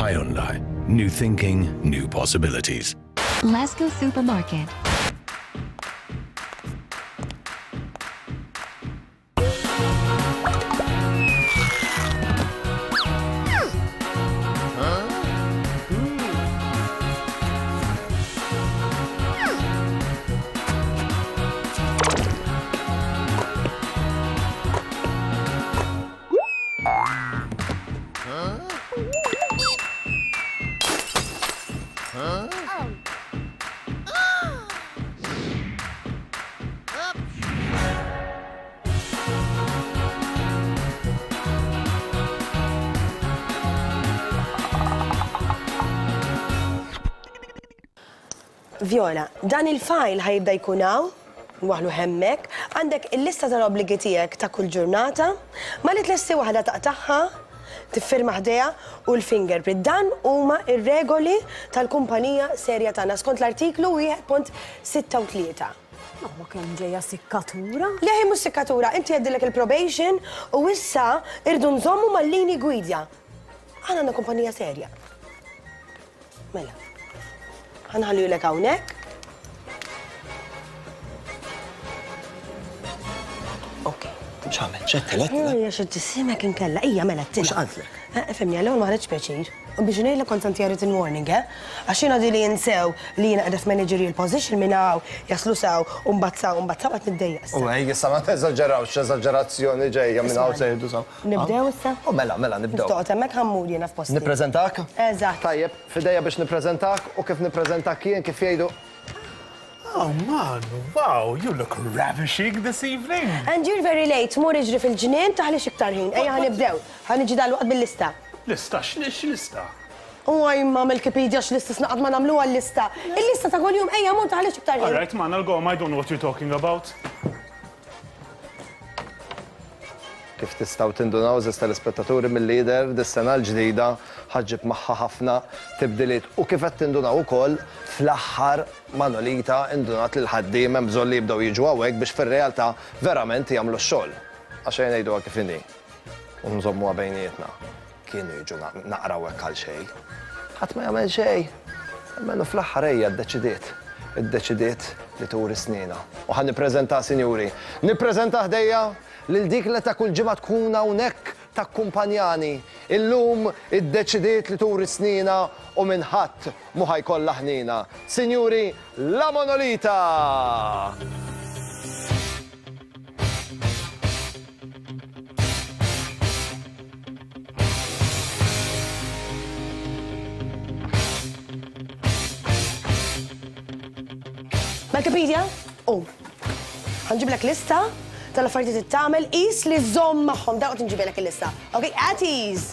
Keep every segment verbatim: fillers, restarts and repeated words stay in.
Hyundai. New thinking, new possibilities. Lasco Supermarket. Viola, dan il-file ħa jibda jkun hawn, waħlu hemmhekk, għandek il-lista tal-obbligi tiegħek ta' kull ġurnata, ma li tlesti waħda taqtagħha, tiffirma ħdejha u l-fingerprint. Dan huma ir-regoli tal-kumpanija serja tagħna skont l-artiklu wieħed punt sitta u tlieta. Ma kemm ġejja sikkatura? Le, hi mhux sikkatura, inti għaddilek il-probation u issa irdu nżommu mal-lini gwida. Aħna għandna kumpanija serja. Mela. Ħa nħallihulek hawnhekk. Ok. X'għamel? X'għedtilek? Ejja, xi tisimek inkella. Ejja, mela t-tilha. X'qaltlek? Eh, Fimni, għall-ewwel ma ħadx pjaċir. U biex ngħidlek kont santi written warning, eh? Għax jiena di li jinsew li jiena qiegħda f'managerial position minn hawn jaslu saw u mbagħad saw u mbagħad saw qed niddejjaq issa. U ej, issa ma teżaġerawx, eżaġerazzjoni ġejja minn hawn se jgħidu saw. Nibdew issa? U mela, mela, nibdew. Toqgħod hemmhekk ħa mmur jiena f'posti. Nippreżentak? Eżatt. Tajjeb, f'idejja biex nippreżentak u kif nippreżentak jien kif jgħidu. Oh man, wow, you look ravishing this evening. And you're very late, mur iġri fil-ġnien taħlix iktar ħin. Ejja ħa nibdew, ħa niġi dalwaqt bil-lista. Lista, x'lista? U għajma mill-Wikipedia x'lista snaqad ma nagħmluha l-lista. Il-lista ta' kuljum ejja mur taħlix iktar ħin. All right, man, I'll go. I don't know what you're talking about. Kif tistgħu tindunaw żewġ telespettaturi mill-lider dis-sena l-ġdida ħa ġġib magħha ħafna tibdiliet u kif qed tindunaw ukoll fl-aħħar Manolita indunat li l-ħaddiem hemm bżonn li jibdew jiġu hawnhekk biex fir-realtà verament jagħmlu x-xogħol. Għax ejja ngħiduha kif inhi u nżommuha bejnietna. Kienu jiġu naqraw hekk għal xejn. Ħadd ma jagħmel xejn. Almenu fl-aħħar ejja ddeċidiet. Iddeċidiet li turi snina. U ħa nippreżenta, sinjuri. Nippreżenta ħdejja lil dik li ta' kull ġimgħa tkun hawnhekk takkumpanjani. Illum iddeċidiet li turi snina u minn ħadd mhu ħa jkollha ħnina. Sinjuri, la Monolita! Wikipedia? U. Ħa nġiblek lista tal-affarijiet li tagħmel qis li żomm magħhom dawk nġibilek il-lista. Ok, at ease.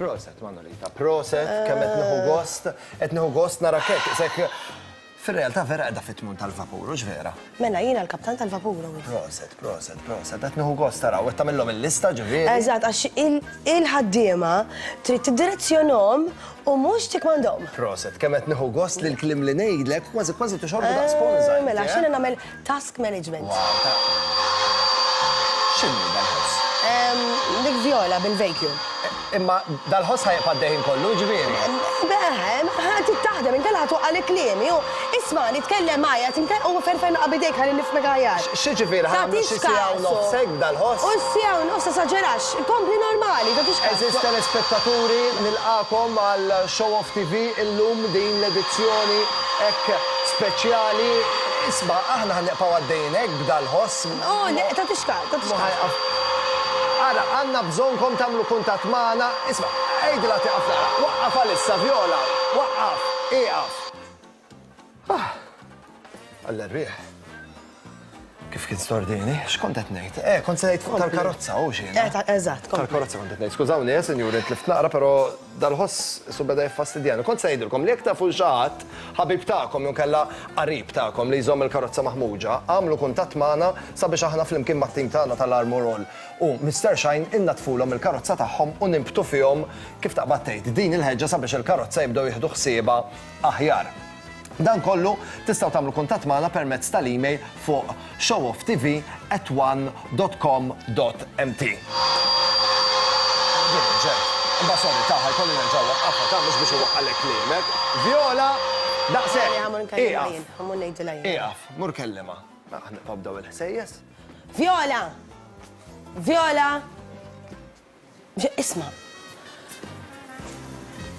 Proset, Manolita, proset, kemm qed nieħu gost, qed nieħu gost nara hekk, sek fir-realtà vera qiegħda fit-tmun tal-vapur, hux vera? Mela jiena l-kaptan tal-vapur. hawn. Proset, proset, proset, qed nieħu gost taraw, qed tagħmilhom il-lista ġifieri. Eżatt, għax il-ħaddiema trid tiddirezzjonhom u mhux tikkmandhom. Proset, kemm qed nieħu gost li l-kliem li ngħidlek kważi kważi tixorbu daqs sponża. Eh, Mela, għax jiena nagħmel task management. Wow, ta' X'inhu dal-ħoss? Em, Dik Viola bil-vacuum. Imma dal-ħoss ħa jibqa' għaddejjin kollu, ġifieri. Beh, taħdem, inkella ħa tuqqa l-kliemi. Isma, nitkellem magħja, tinkellem u ferfer naqra bidejk ħalli nifhmek aħjar. X'ġifieri ħa nagħmlu xi siegħa u nofs hekk dal-ħoss? U siegħa u nofs esaġerax, kompli normali, tagħtix kasu. Eżis telespettaturi, nilqakom għal Show Off T V illum din l-edizzjoni hekk speċjali. Isma, aħna ħa nibqgħu għaddejjin hekk b'dal-ħoss. Oh, le, tagħtix kasu, tagħtix kasu. Ara, għandna bżonnkom tagħmlu kuntatt magħna. Isma', għidilha tieqaf nara. Waqqaf għalissa, Viola. Waqqaf, ieqaf. Ah, għall-erwieħ. Kif kien stordini? X'kont qed ngħid? Eh, kont se ngħid fuq tal-karozza, u xi. Eh, ta-, eżatt, kompli. Tal-karozza kont qed ngħid. Skużawni, eh, sinjuri, tlift naqra, però dal-ħoss su beda jiffastidjani. Kont se ngħidilkom li jekk tafu xi ħadd, ħabib tagħkom jew kellha qarib tagħkom li jżomm il-karozza maħmuġa, għamlu kuntatt magħna sabiex aħna flimkien mat-tim tagħna tal-Armor All u Mister Shine innatfulhom il-karozza tagħhom u nimbtu fihom kif taqbad tgħid din il-ħeġġa sabiex il-karozza jibdew jieħdu ħsiebha aħjar. Dan kollu tistgħu tagħmlu kuntatt magħna permezz tal-email fuq showoff T V at one dot com dot M T. Din, Imma sorry, ta' ħa jkolli nerġa' nwaqqafha, ta' mhux biex iwaqqalek kliemek. Viola, daqshekk. Ieqaf. Ħa mmur ngħidilha jien. Ieqaf, mur kellimha. Aħna nibdew il-ħsejjes. Viola! Viola! Isma'.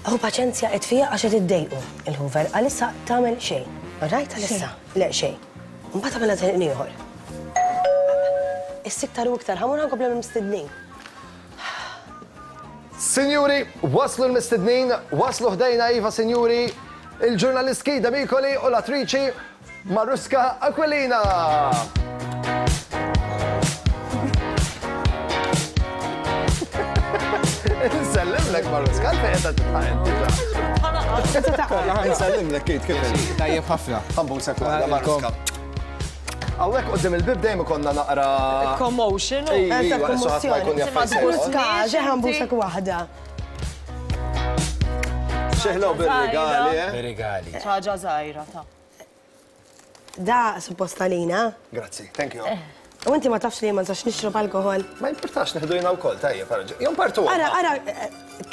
Hu paċenzja qed fija għax qed iddejqu il-Hoover. Għalissa tagħmel xejn. Rajt għalissa? Le xejn. Mbagħad tagħmilha ħin ieħor. Issa iktar u iktar, ħa mmur nkompli mistednin. Sinjuri, waslu l-mistednin, waslu ħdejna iva, sinjuri, il-ġurnalist Keith Demicoli u l-attriċi Maruska Aquilina. Nsellimlek Maruska, għalfejn qed tidħaq inti ġa. Nsellimlek Keith, kif inti? Tajjeb ħafna. Ħa nbusek waħda Maruska. Hawnhekk quddiem il-bib dejjem ikollna naqra Commotion. Ejwa, issa ħadd ma jkun jaf fejn se joqgħod. Maruska, ġeħan busek waħda. Xeħlew bir-rigali, eh? Bir-rigali. Ħaġa żgħira ta'. Da suppost għalina. Grazzi, thank you. U inti ma tafx li ma nistax nixrob alkohol. Ma importax neħdu jiena wkoll, tajjeb, ara. Jom partu. Ara, ara,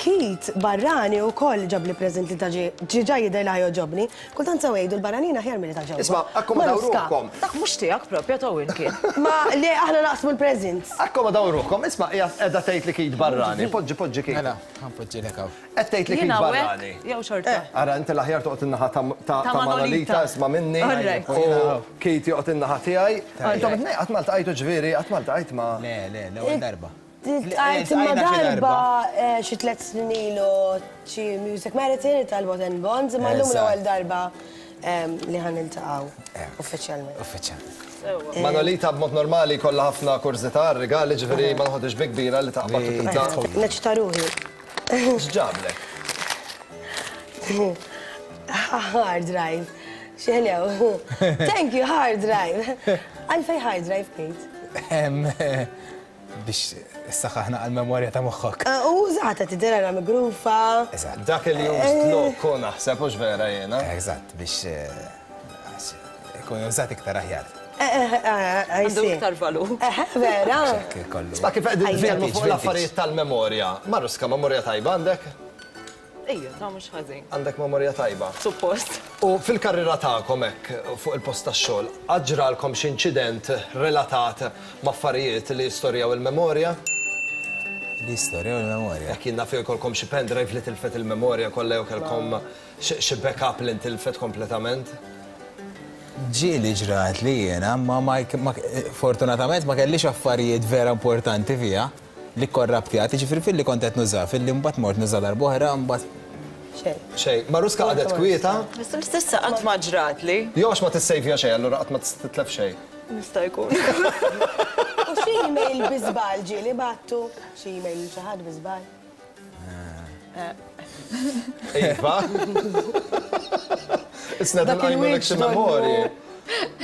Keith barrani wkoll ġabli preżent li ta' ġiġa jidher li ħajogħġobni. Kultant sew jgħidu l-barranin aħjar milli ta' ġewwa. Isma' akkomodaw Maruska. ruħkom. Dak mhux tiegħek propja ta' win kien. Ma le aħna naqsmu l-presents. Akkomodaw ruħkom, isma' hija qiegħda tgħid li Keith barrani. Poġġi, poġġi Keith. Mela, ħa npoġġilek hawn. Qed tgħid li Keith Jiena barrani. hawnhekk jew xorta. Ara, inti l-aħjar toqgħod in-naħa ta' ta' Ta' ta' Manolita, Manolita. isma' minni. All right. U Keith joqgħod in-naħa tiegħi. Intom it-tnejn qatt ma ltqajtu ġifieri, qatt ma ltqajt ma' Le, le, l-ewwel darba. Għajt imma darba eh, xi tliet snin ilu xi Music Marathon tal-Bot and Bonds, imma llum l-ewwel darba em, li ħa niltaqgħu uffiċjalment. Uffiċjalment. Manolita b'mod normali kollha ħafna kurżità, rigali ġifieri ma noħodix bi kbira li taqbad u tibda. Neċta ruħi. X'ġablek? Hard drive. Xeħlew. Thank you, hard drive. Għalfej hard drive, Kate. Em, eh, Biex issaħħaħna għal-memorja ta' moħħok. Eh, U użata tidher migrufa. Eżatt. Dak li used look naħseb hux vera jiena. Eżatt, biex eh, għax ikun użat iktar aħjar. Għandu iktar valur. Vera. Hekk kollu. Isma' kif qegħdin nitkellmu fuq Vintage. l-affarijiet tal-memorja. Maruska, memorja tajba għandek? Ejja, ta' mhux ħażin. Għandek memorja tajba. Suppost. U fil-karriera tagħkom hekk fuq il-post tax-xogħol, ġralkom xi inċident relatat ma' affarijiet li jistorjaw il-memorja? L-istorja u l-memorja. Jekk jien naf jkollkom xi pendrive li tilfet il-memorja kollha jew kellkom xi xi backup li ntilfet kompletament? Ġieli ġrat li jiena, ma ma ma- fortunatament ma kellix affarijiet vera importanti fija li korraptjat, ġifieri fil-li kont qed nuża, fil-li mbagħad mort nuża darb'oħra, mbagħad Xejn. Xejn, Maruska qagħdet kwieta, S'issa qatt ma ġrat li. jew għax ma tissejvja xejn, allura qatt ma titlef xejn. Nista' jkun. U xi email bi żball ġieli bgħattu? Xi email xi ħadd bi żball? Iva. Isna Dak nqajmulek xi il-wiċċ donnu- memorji.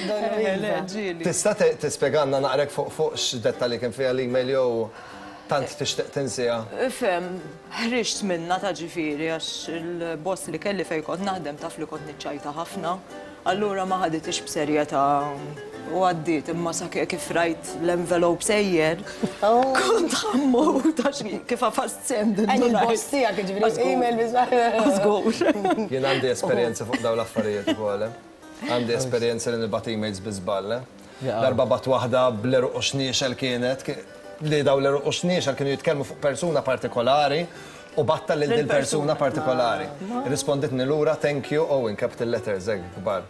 Donnu Le, iva. ġieli. Tista' te- tispjegalna naqrek fuq fuq x'dettalji kien fiha l-email jew tant tixtieq tinsiha? Ifhem, ħriġt minna ta' ġifieri għax il-boss li kelli fej kont naħdem taf li kont niċċajta ħafna. Allura ma ħaditix b'serjetà u għaddiet imma sa kif rajt l-envelope sejjer. Kont ħa mmut għax kif għafast send. Għan il-boss tiegħek ġifieri email bi żball. Żgur. Jien għandi esperjenza fuq dawn l-affarijiet ukoll. eh. Għandi esperjenza li nibgħat emails bi żball. eh. Darba bgħatt waħda bl-għeruq u xniexel kienet, ki- li dawn l-għeruq u xniexel kienu jitkellmu fuq persuna partikolari u bgħattha lil dil persuna partikolari. Risponditni lura thank you oh in capital letters hekk kbar.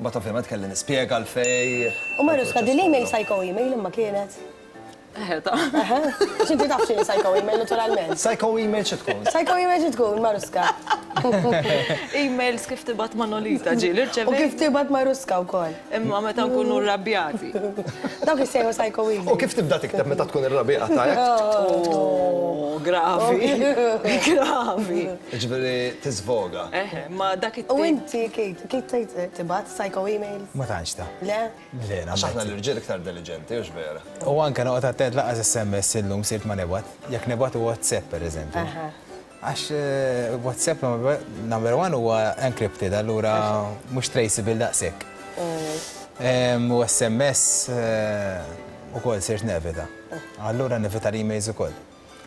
But ovvjament kelli nispjega għalfej. U Maruska, din l-email psycho email imma kienet. Eħe ta' X'inti taf x'inhi psycho email naturalment. Psycho email xi tkun? Psycho email xi tkun, Maruska. Emails kif tibgħat Manolita ġieli U rċevejt. kif tibgħat Maruska wkoll. Imma meta nkunu rrabjati. Dawk issejħu psycho email. U kif tibda tikteb meta tkun irrabjata hekk? Oh, gravi. Gravi. Ġifieri tiżvoga. Eħe, ma dak U it-tip. inti, Kate, Kate tgħid tibgħat psycho emails? ma tantx ta' Le? Le, Għax aħna nammetti. l-irġiel iktar diligenti, hux vera. U anke noqgħod attent lanqas SMS illum sirt ma nibgħat. Jekk nibgħat WhatsApp pereżempju. Għax eh, WhatsApp number- number one huwa encrypted, allura mhux traceable daqshekk. Em, U SMS eh, ukoll sirt nevita. Allura nevita l-emails ukoll.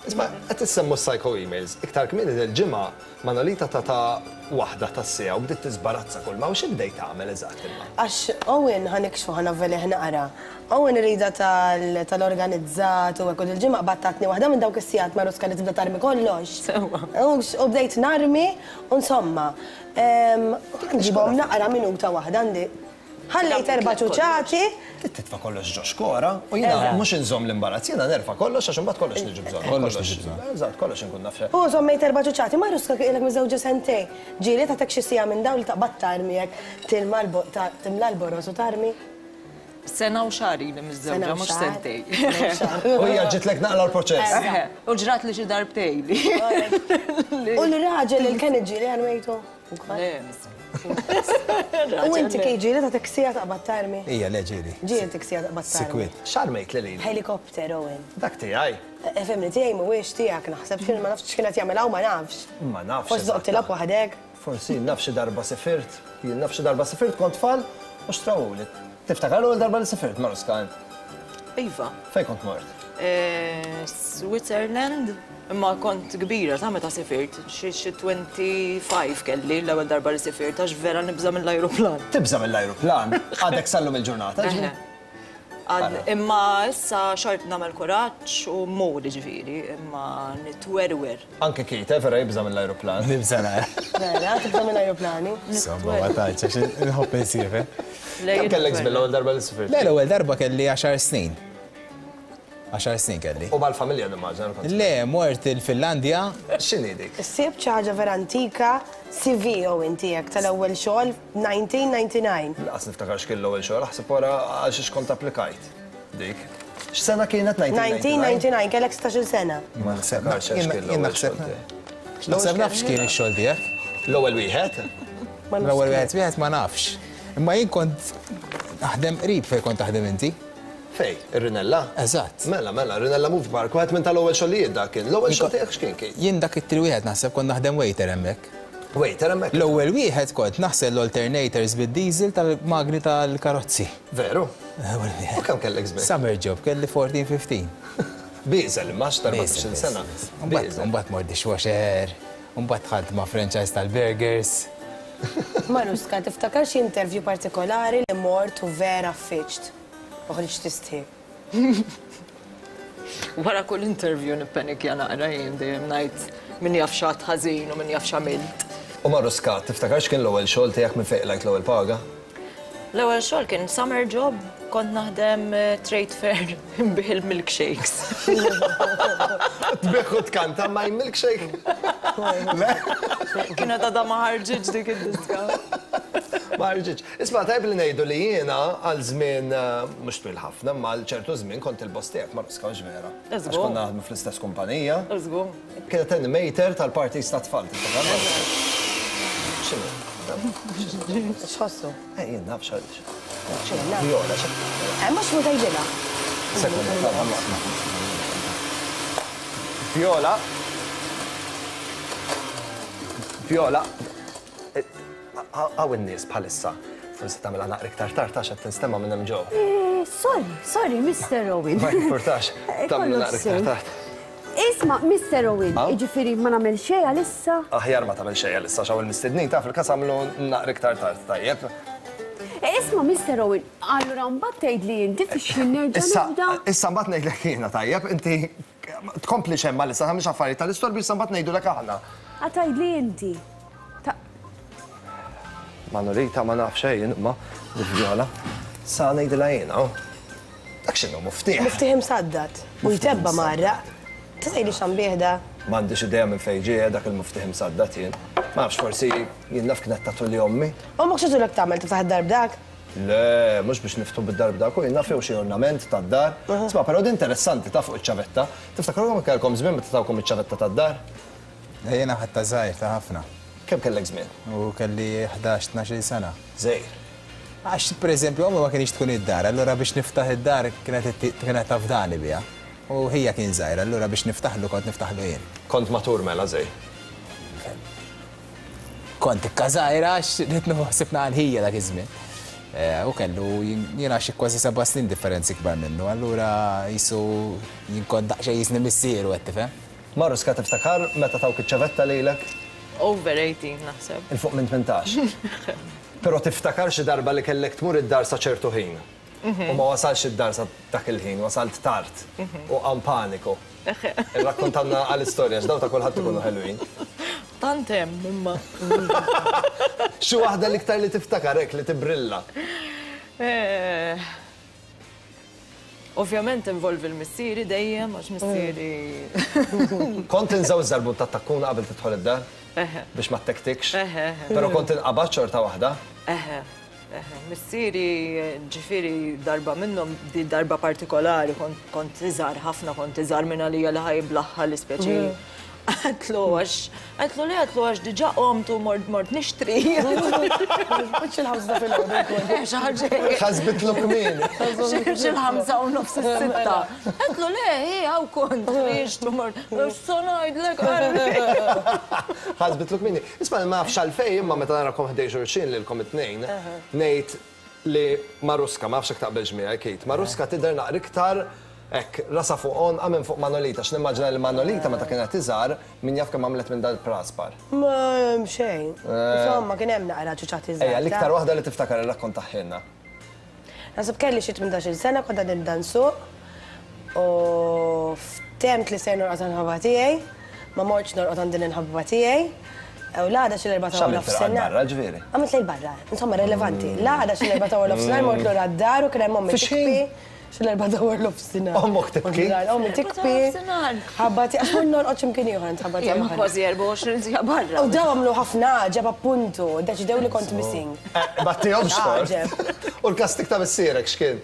Isma', qed issemmu psycho emails. Iktar kmieni il-ġimgħa Manolita tata waħda tas-siegħa u bdiet tiżbarazza kull ma u xi bdejt tagħmel eżatt imma. Għax Owen ħa nikxfu, ħa navvelih naqra. Owen irida tal-organizzat u hekk, u il-ġimgħa battatni waħda minn dawk is-sigħat, Maruska, li tibda tarmi kollox. Sewwa. U bdejt narmi, u insomma, nġibhom naqra minuta waħda għandi. Ħallejt erba' ċuċati. Titfa' kollox ġo xkora u jiena mhux inżomm l-imbarazz, jiena nerfa' kollox għax imbagħad kollox niġi bżonn. Kollox niġi bżonn. Eżatt, kollox inkun naf. U żommejt erba' ċuċati, Maruska, ilek miżewġa sentej. Ġieli tagħtek xi siegħa minn dawn li taqbad tarmi hekk, tilma timla l-boros u tarmi? Sena u xahar ili miżżewġa, mhux sentej. U hija ġitlek naqla l-proċess. U ġrat li xi darbtej li. U l-raġel il-kien ġieli għanwejtu? U inti kej ġieli ta' teksija taqbad tarmi? Ija, le ġieli. Ġieli teksija taqbad tarmi. Sikwit. X'armejt li lili? Helikopter, Owen. Dak tiegħi. Efemni, tiegħi mhuwiex tiegħek, naħseb x'kien, ma nafx x'kienet jagħmel hawn, ma nafx. Ma nafx. Forsi toqgħod tilgħab waħdek. Forsi naf xi darba sifirt. Jien naf xi darba sifirt kont tfal u xtrawuli. Tiftakar l-ewwel darba li sifirt, Maruska, int? Iva. Fejn kont mort? Switzerland, imma kont kbira ta' meta sifirt, xi twenty-five kelli l-ewwel darba li sifirt, għax vera nibża' mill-ajruplan. Tibża' mill-ajruplan? Għadek sallum il-ġurnata, ġifieri? Imma issa xort nagħmel kuraġġ u mmur, ġifieri, imma nitwerwer. Anke Kite vera jibża' mill-ajruplan. Nibża' nara. Vera, tibża' mill-ajruplani? Insomma, ma tantx, għax inħobb insiefer. Kemm kellek żmien l-ewwel darba li sifirt? Le, l-ewwel darba kelli għaxar snin. Għaxar snin kelli. U mal-familja nimmaġina kont? Le, mort il-Finlandja. X'inhi dik? Issib xi ħaġa vera antika, C V Owen tiegħek tal-ewwel xogħol nineteen ninety-nine. Laqas niftakar x'kien l-ewwel xogħol, aħseb wara għal xiex kont applikajt. Dik. X'sena kienet nineteen ninety-nine? nineteen ninety-nine, kellek sittax-il sena. Ma niftakarx għax kien l-ewwel xogħol tiegħi. Naħseb naf x'kien ix-xogħol tiegħek. L-ewwel wieħed? L-ewwel wieħed wieħed ma nafx. Imma jien kont naħdem qrib fejn kont taħdem inti. Fej, ir-Rinella? Eżatt. Mela, mela, Rinella Movie Park, wieħed minn tal-ewwel xogħlijiet dak kien. L-ewwel xogħol tiegħek x'kien kien? Jien dak it-tri wieħed naħseb kont naħdem waiter hemmhekk. Waiter hemmhekk? L-ewwel wieħed kont naħsel l-alternators bid-diesel tal-magni tal-karozzi. Veru? L-ewwel wieħed. U kemm kellek żmien? Summer job, kelli fourteen fifteen. Bieżel, imma għax erbatax-il sena. Mbagħad mbagħad mort dishwasher, mbagħad dħalt ma' franchise tal-burgers. Maruska, tiftakar xi interview partikolari li mort u vera ffiċt? U ħriġt tistħi. Wara kull interview nippanikja naqra jien, dejjem ngħid min jaf x'għad ħażin u min jaf x'għamilt. U Maruska, tiftakar x'kien l-ewwel xogħol tiegħek minn fejn qlajt l-ewwel paga? L-ewwel xogħol kien summer job, kont naħdem trade fair nbih il-milkshakes. Tbih u tkanta my milkshake? Le? Kienet għadha ma ħarġitx dik id-diska. Ma ħarġitx. Isma', tajb li ngħidu li jiena għal żmien mhux twil ħafna, ma għal ċertu żmien kont il-boss tiegħek, Maruska, mhux vera? Eżgur. Għax konna naħdmu fl-istess kumpanija. Eżgur. Kienet animator tal-parties ta' tfal, tiftakar? X'inhu? X'ħossu? Eh, jien naf x'għaliex. X'inhu? Viola, x'għaliex? Eh, mhux mhu tgħidilha. Sekonda, ta' Viola. Viola. Għaw in-nies bħalissa. Forsi tagħmilha naqra iktar tard għax qed tinstema' minn hemm ġew. Sorry, sorry, Mister Owen. Ma jimpurtax, tagħmlu naqra iktar tard. Isma', Mister Owen, jiġifieri ma nagħmel xejn għalissa? Aħjar ma tagħmel xejn għalissa, x'hawn il-mistednin taf il-każ għamlu naqra iktar tard, tajjeb. Isma', Mister Owen, allura mbagħad tgħidli inti fiex jien nerġa' nibda? Issa mbagħad ngħidlek jiena, tajjeb, inti tkompli xemma għalissa, tagħmilx affarijiet tal-istorbju, issa mbagħad ngħidulek aħna. Tgħidli inti. Manolita ma naf xejn, imma Viola, sa ngħidilha jiena. Dak x'inhu muftieħ? Muftieħ imsaddad u jtebba marraq. Tgħidli x'għambih da? M'għandix idea minn fejn ġie dak il-muftieħ imsaddad jien. Ma nafx, forsi jien naf kienet tagħtu li ommi. Ommok x'għidulek tagħmel tiftaħ id-dar b'dak? Le, mhux biex niftu bid-dar b'dak, u jien naf jew xi ornament tad-dar. Isma', però din interessanti ta' fuq iċ-ċavetta. Tiftakru kemm kellkom żmien meta tawkom iċ-ċavetta tad-dar? Jiena ħadtha żgħir ta' ħafna. Kemm kellek żmien? U kelli ħdax, tnax-il sena. Żgħir. Għax, pereżempju, ommi ma kienx tkun id-dar, allura biex niftaħ id-dar kienet kienet tafdani biha. U hija kien żgħir, allura biex niftaħlu kont niftaħlu jien. Kont matur mela żgħir? Kont ikka żgħira għax rrid ħsibna għal ħija dak iż-żmien. U kellu jiena xi kważi seba' snin differenzi kbar minnu, allura jisu jien kont daqsxejn jisni missieru qed tifhem. Maruska, tiftakar meta tawk iċ-ċavetta lilek? Over eighteen naħseb. Il fuq minn tmintax. Però tiftakar xi darba li kellek tmur id-dar sa ċertu ħin. U ma wasalx id-dar sa dak il-ħin, wasalt tard. U qam paniku. Irrakkontanna għall-istorja, x'daw ta' kulħadd ikunu ħelwin. Tant hemm imma. Xi waħda l-iktar li tiftakar hekk li tibrilla? Ovvjament involvi l-missieri dejjem, għax missieri. Kont inżaw iż-żarbun tat-takkuna qabel tidħol id-dar? Biex ma ttektikx? Però kont inqabad xorta waħda? Eħe, eħe. Missieri, ġifieri darba minnhom, di darba partikolari, kont iżgħar ħafna, kont iżgħar minn għalija li ħajblaħħa l-ispeċi. Għedtlu għax, għedtlu li għedtlu għax diġà qomt u mort mort nixtri. Mhux il-ħamsa filgħodu jkun. Xi ħaġa. Ħasbitlu kmieni. Xi l-ħamsa u nofs is-sitta. Għedtlu le, hi hawn kont ħriġt u mort. X'se ngħidlek qalbi. Ħasbitlu kmieni. Isma' ma nafx għalfejn imma meta narakom ħdej xulxin lilkom it-tnejn, ngħid li Maruska, ma nafx jekk taqbilx miegħi Kate, Maruska tidher naqra iktar hekk, rasa fuq għonqa minn fuq Manolita, x'nimmaġina li Manolita meta kienet iżgħar min jaf kemm għamlet minn dal-praspar. Ma xejn. Insomma, kien hemm naqra ċuċat iżgħar. Ejja, l-iktar waħda li tiftakar irrakkontaħħilna. Naħseb kelli xi tmintax-il sena kont għadni nibda nsuq u ftemt li ser norqod għand ħabba tiegħi, ma mortx norqod għand din il-ħabba tiegħi. U l-għada xi l-erbgħa ta' nofsinhar. Barra ġifieri. Għamilt lejl barra, insomma relevanti. L-għada xi l-erbgħa ta' nofsinhar mort lura d-dar u kien hemm ommi tikbi. Xi l-erbgħa ta' nofsinhar. Ommok tibki? Ommi tikbi. Ħabbati, għax mur norqod x'imkien ieħor għand ħabbati. Ma kważi erbgħa u għoxrin siegħa barra. U daw għamlu ħafna għaġeb appuntu, deċidew li kont missing. Battihomx tort. U l-kastik ta' missierek x'kien?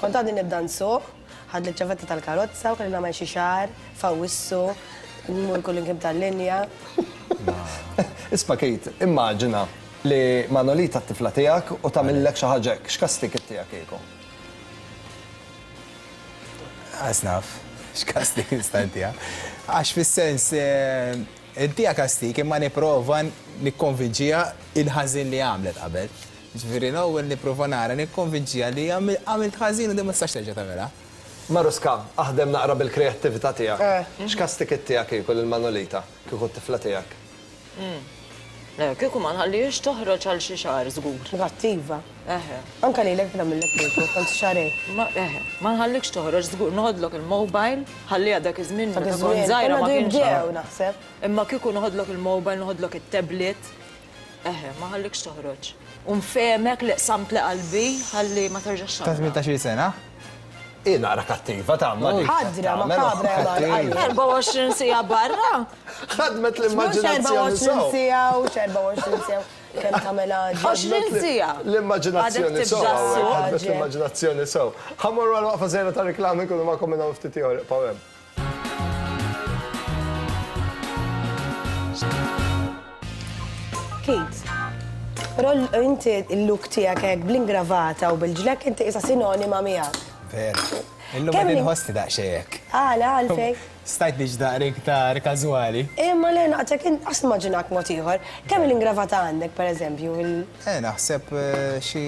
Kont għadni nibda nsuq, ħadli ċ-ċavetta tal-karozza u kelli nagħmel xi xahar, fawwissu, nmur kull imkien tal-linja. Isma' Kate, immaġina li Manolita t-tifla tiegħek u tagħmillek xi ħaġa hekk, x'kastik tiegħek kieku? Għas naf, x'kastik nista' ntiha. Għax fis-sens intiha kastik imma nipprova nikkonvinċiha il-ħażin li għamlet qabel. Ġifieri l-ewwel nipprova nara nikkonvinċiha li għamilt ħażin u din ma tistax terġa' tagħmilha. Maruska, aħdem naqra bil-kreattività tiegħek. X'kastik tiegħek kieku lil Manolita, kieku t-tifla tiegħek? Le, kieku ma nħallihiex toħroġ għal xi xahar żgur. Kattiva. Eħe. Anke lilek nagħmillek kieku, kont xahrejn. Eħe, ma nħallikx toħroġ żgur, noħodlok il-mobile, ħalliha dak iż-żmien meta kont żgħira ma kienx. Bdew naħseb. Imma kieku noħodlok il-mobile, noħodlok it-tablet. Eħe, ma ħallikx toħroġ. U nfehmek li qsamt li qalbi ħalli ma terġax Ta' tmintax-il sena? Hi naqra kattiva ta' ma dik. Ħadra, ma kabra ja erbgħa u għoxrin siegħa barra. Ħadmet l-immaġinazzjoni sew. erbgħa u għoxrin siegħa u erbgħa u għoxrin siegħa kemm tagħmel għaġeb. għoxrin siegħa. L-immaġinazzjoni sew. Ħadmet l-immaġinazzjoni sew. Ħa mmorru għal waqfa żgħira ta' reklami nkunu magħkom minn hawn ftit ieħor, ibqgħu hemm. Kate, però inti il-look tiegħek hekk bl-ingravata u bil-ġlek inti isa sinonima miegħek. Vera. Illum qed inħossni daqsxejn hekk. Għala, għalfejn. Stajt niġi daqra iktar każwali. Imma le naqtek qas nimmaġinak mod ieħor. Kemm l-ingravata għandek pereżempju? Eh, naħseb xi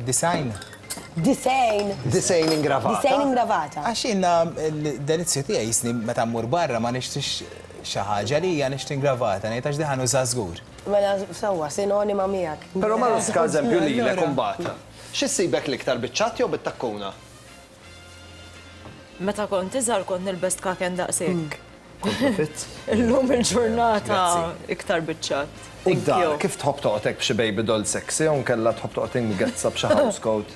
design. Design. Design ingravata. Design ingravata. Għax jiena l-delizzju tiegħi jisni meta mmur barra ma nixtrix xi ħaġa li hija nixtri ingravata, ngħid għax diħa nuża żgur. Mela sewwa sinonima miegħek. Però Maruska eżempju lilek imbagħad. X'issibek l-iktar biċ-ċatt jew bit-takkuna? Meta kont iżgħar kont nilbes tkaken daqshekk. Kont Illum il-ġurnata iktar biċ-ċatt. U d-dar, kif tħobb toqgħod hekk b'xi baby doll sexy jew nkella tħobb toqgħod ingezza b'xi house coat?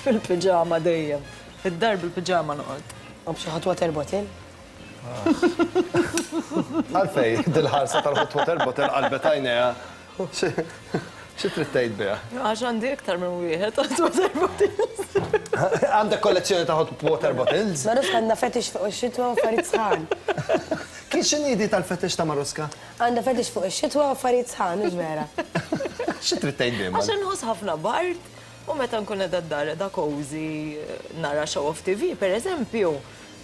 Fil-piġama dejjem. Id-dar bil-piġama noqgħod. U b'xi hot water bottle? Għalfej, dil-ħarsa tal-hot water bottle qalbet għajnejha. Xi trid tgħid biha? Għax għandi iktar minn wieħed hot water bottles. Għandek kollezzjoni ta' hot water bottles? Maruska għandha fetish fuq ix-xitwa u affarijiet sħan. Kien x'inhi di tal-fetish ta' Maruska? Għandha fetish fuq ix-xitwa u affarijiet sħan, mhux vera. Xi trid tgħid biha? Għax inħoss ħafna bard u meta nkun qiegħda d-dar qiegħda cozy nara show off T V, pereżempju,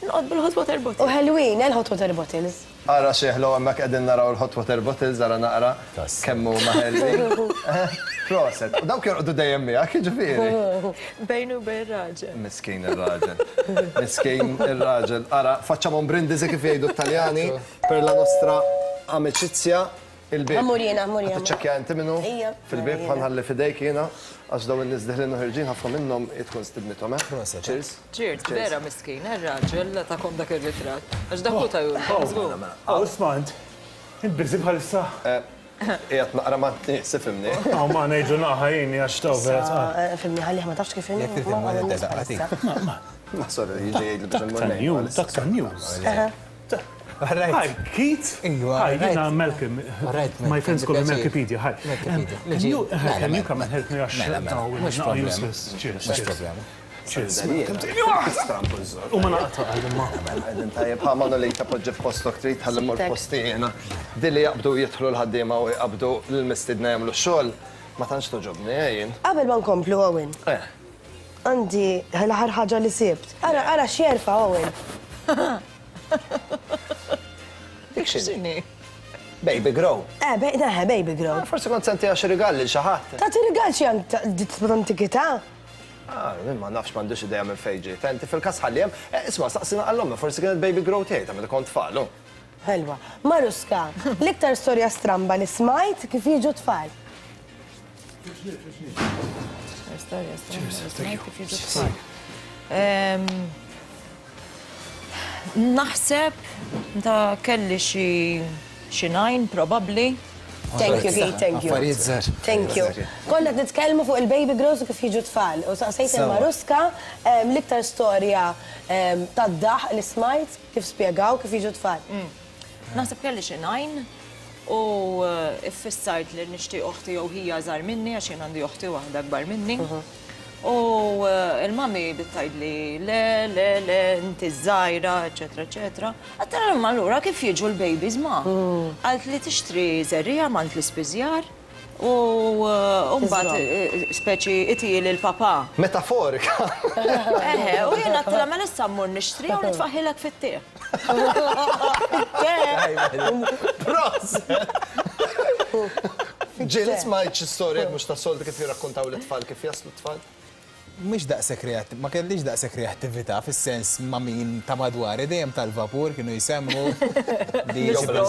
Nqod bil-hot water bottle. U ħelwin, il-hot water bottles. Ara xieħlu hemmhekk qegħdin naraw il-hot water bottles, ara naqra kemm huma ħelwin. Proset. U dawk jorqdu dejjem miegħek, jiġifieri. Bejnu bejn raġel. Miskin ir-raġel. Miskin ir-raġel. Ara, facciamo un brindisi kif jgħidu t-Taljani per la nostra amicizia. Il-bib. Ammur jiena, ammur jiena. Tiċċekkja inti minnu? Fil-bib ħanħalli fidejk jiena għax dawn in-nies deħlin u ħirġin ħafna minnhom tkun stidnithom, eh? Cheers. Cheers, vera miskin, ir-raġel takom dak ir-ritratt. Għax dak hu ta' Jurgen. Oh, isma' int. Int busy bħalissa. Qiegħed naqra ma' nies, ifhimni. Oh, ma ngħidu naqa' jieni għax taw vera. Fimni ħallih ma tafx kif inhi. Jekk trid immur inti Ma, ma sorry, jiġi jgħidli biex immur ngħid. Dak ta' news. Hi, Keith. Hi, jiena Malcolm. My friends call me Malkipedia. Hi. Can you, can you come and help me? Mhux problema. Cheers. Mhux problema. Cheers. U ma naqta' għal-imma. Għedin tajjeb, ħa Manolita poġġi f'postok trid, ħalli mmur f'posti jiena. Dilli jaqbdu jidħlu l-ħaddiema u jqabdu l-mistidna jagħmlu x-xogħol, ma tantx toġobni jien. Qabel ma nkomplu, Owen. Għandi l-aħħar ħaġa li sibt. Ara, ara x'jerfa' Owen. Dik x'inhi? Baby grow. Eh, neħe, baby grow. Forsi kont senti għax rigal lil xi ħadd. Tagħti rigal xi antikità? Ah, ma nafx m'għandux idea minn fejn ġiet. Inti fil-każ ħalli hemm, isma' saqsina għall-ommi, forsi kienet baby grow tiegħi ta' meta kont tfal. Ħelwa. Maruska, l-iktar storja stramba li smajt kif jiġu tfal. Storja stramba li smajt kif jiġu tfal. Naħseb ta' kelli xi nine probably. Thank you, Keith, thank you. Thank you. Konna qed nitkellmu fuq il-baby grows u kif jiġu tfal. U saqsejt il-Maruska l-iktar storja tad-daħq li smajt kif spjegaw kif jiġu tfal. Naħseb kelli xi nine u iffissajt li nixtieq oħti jew hija żgħar minni għax jien għandi oħti waħda akbar minni. U il-mami bittajt li le, le, le, inti żgħira, eċetera, eċetera. Għattara ma allura kif jiġu l-babies ma? Għalt li tixtri żerriegħa m'għand l-ispiżjar u mbagħad speċi iti lil papa. Metaforika. Eħe, u jien għattila ma issa mmur nixtri u nitfaħilek fit-tieħ. Proset! Ġieli smajt xi storja mhux ta' soltu kif jirrakkontaw l-tfal kif jaslu t-tfal? Mhux daqshekk reattiv, ma kellix daqshekk reattività fis-sens ma' min ta' madwari dejjem tal-vapur kienu jsemmu li jew bla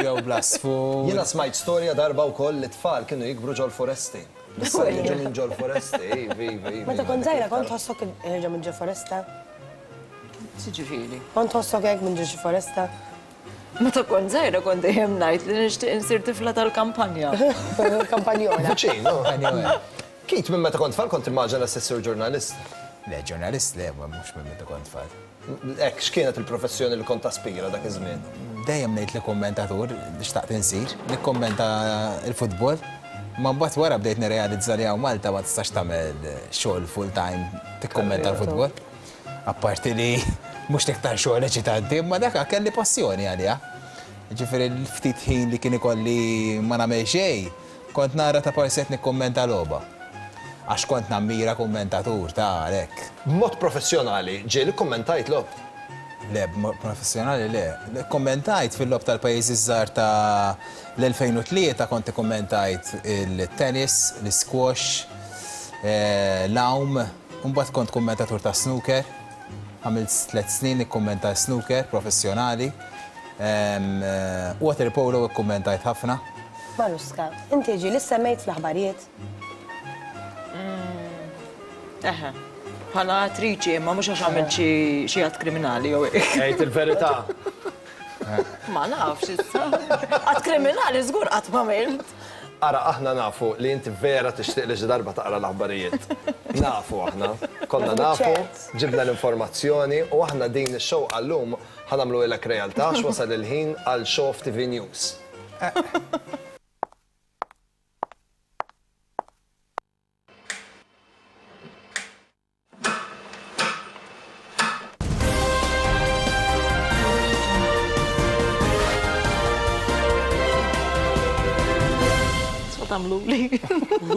jew bla sfur. Jiena smajt storja darba wkoll li tfal kienu jikbru ġol-foresti. Issa jiġu minn ġol-foresti, iva, iva, iva. Meta kont żgħira kont tħossok ħerġa minn ġol-foresta? Xiġifieri? Kont tħossok hekk minn ġo xi foresta? Meta kont żgħira kont dejjem ngħid li nixtieq insir tifla tal-kampanja. Kampanjola. Viċin, Keith, minn meta kont tfal kont immaġina se ssir ġurnalist? Le, ġurnalist le, mhux minn meta kont tfal. Hekk, x'kienet il-professjoni li kont taspira dak iż-żmien? Dejjem ngħid li kommentatur li xtaqt insir, nikkommenta l-futbol. Ma mbagħad wara bdejt nirrealizza li hawn Malta ma tistax tagħmel xogħol full time tikkommenta l-futbol. Apparti li mhux l-iktar xogħol eċitanti, imma dak kelli passjoni għaliha. Ġifieri l-ftit ħin li kien ikolli ma nagħmel xejn, kont nara ta' parset nikkommenta logħba. Għax kont nammira kommentatur ta' għalhekk. B'mod professjonali, ġieli kkommentajt logħob? Le, b'mod professjonali le. Kommentajt fil-logħob tal-pajjiżi żgħar ta' l-elfejn u tlieta kont ikkommentajt il-tennis, l-squash, l-għawm, u mbagħad kont kommentatur ta' snooker. Għamilt tliet snin nikkommenta snooker professjonali. Water polo ikkommentajt ħafna. Maruska, inti ġieli semmejt fl-aħbarijiet? Eħe, bħala attriċi, imma mhux għax għamilt xi att kriminali jew hekk. Għid il-verità. Ma nafx issa. Att kriminali żgur qatt ma għamilt. Ara, aħna nafu li inti vera tixtieq li xi darba taqra l-aħbarijiet. Nafu aħna, konna nafu, ġibna l-informazzjoni u aħna din ix-show għallum ħa nagħmlu ilek realtà x'wasal il-ħin għal show T V News. tagħmluli.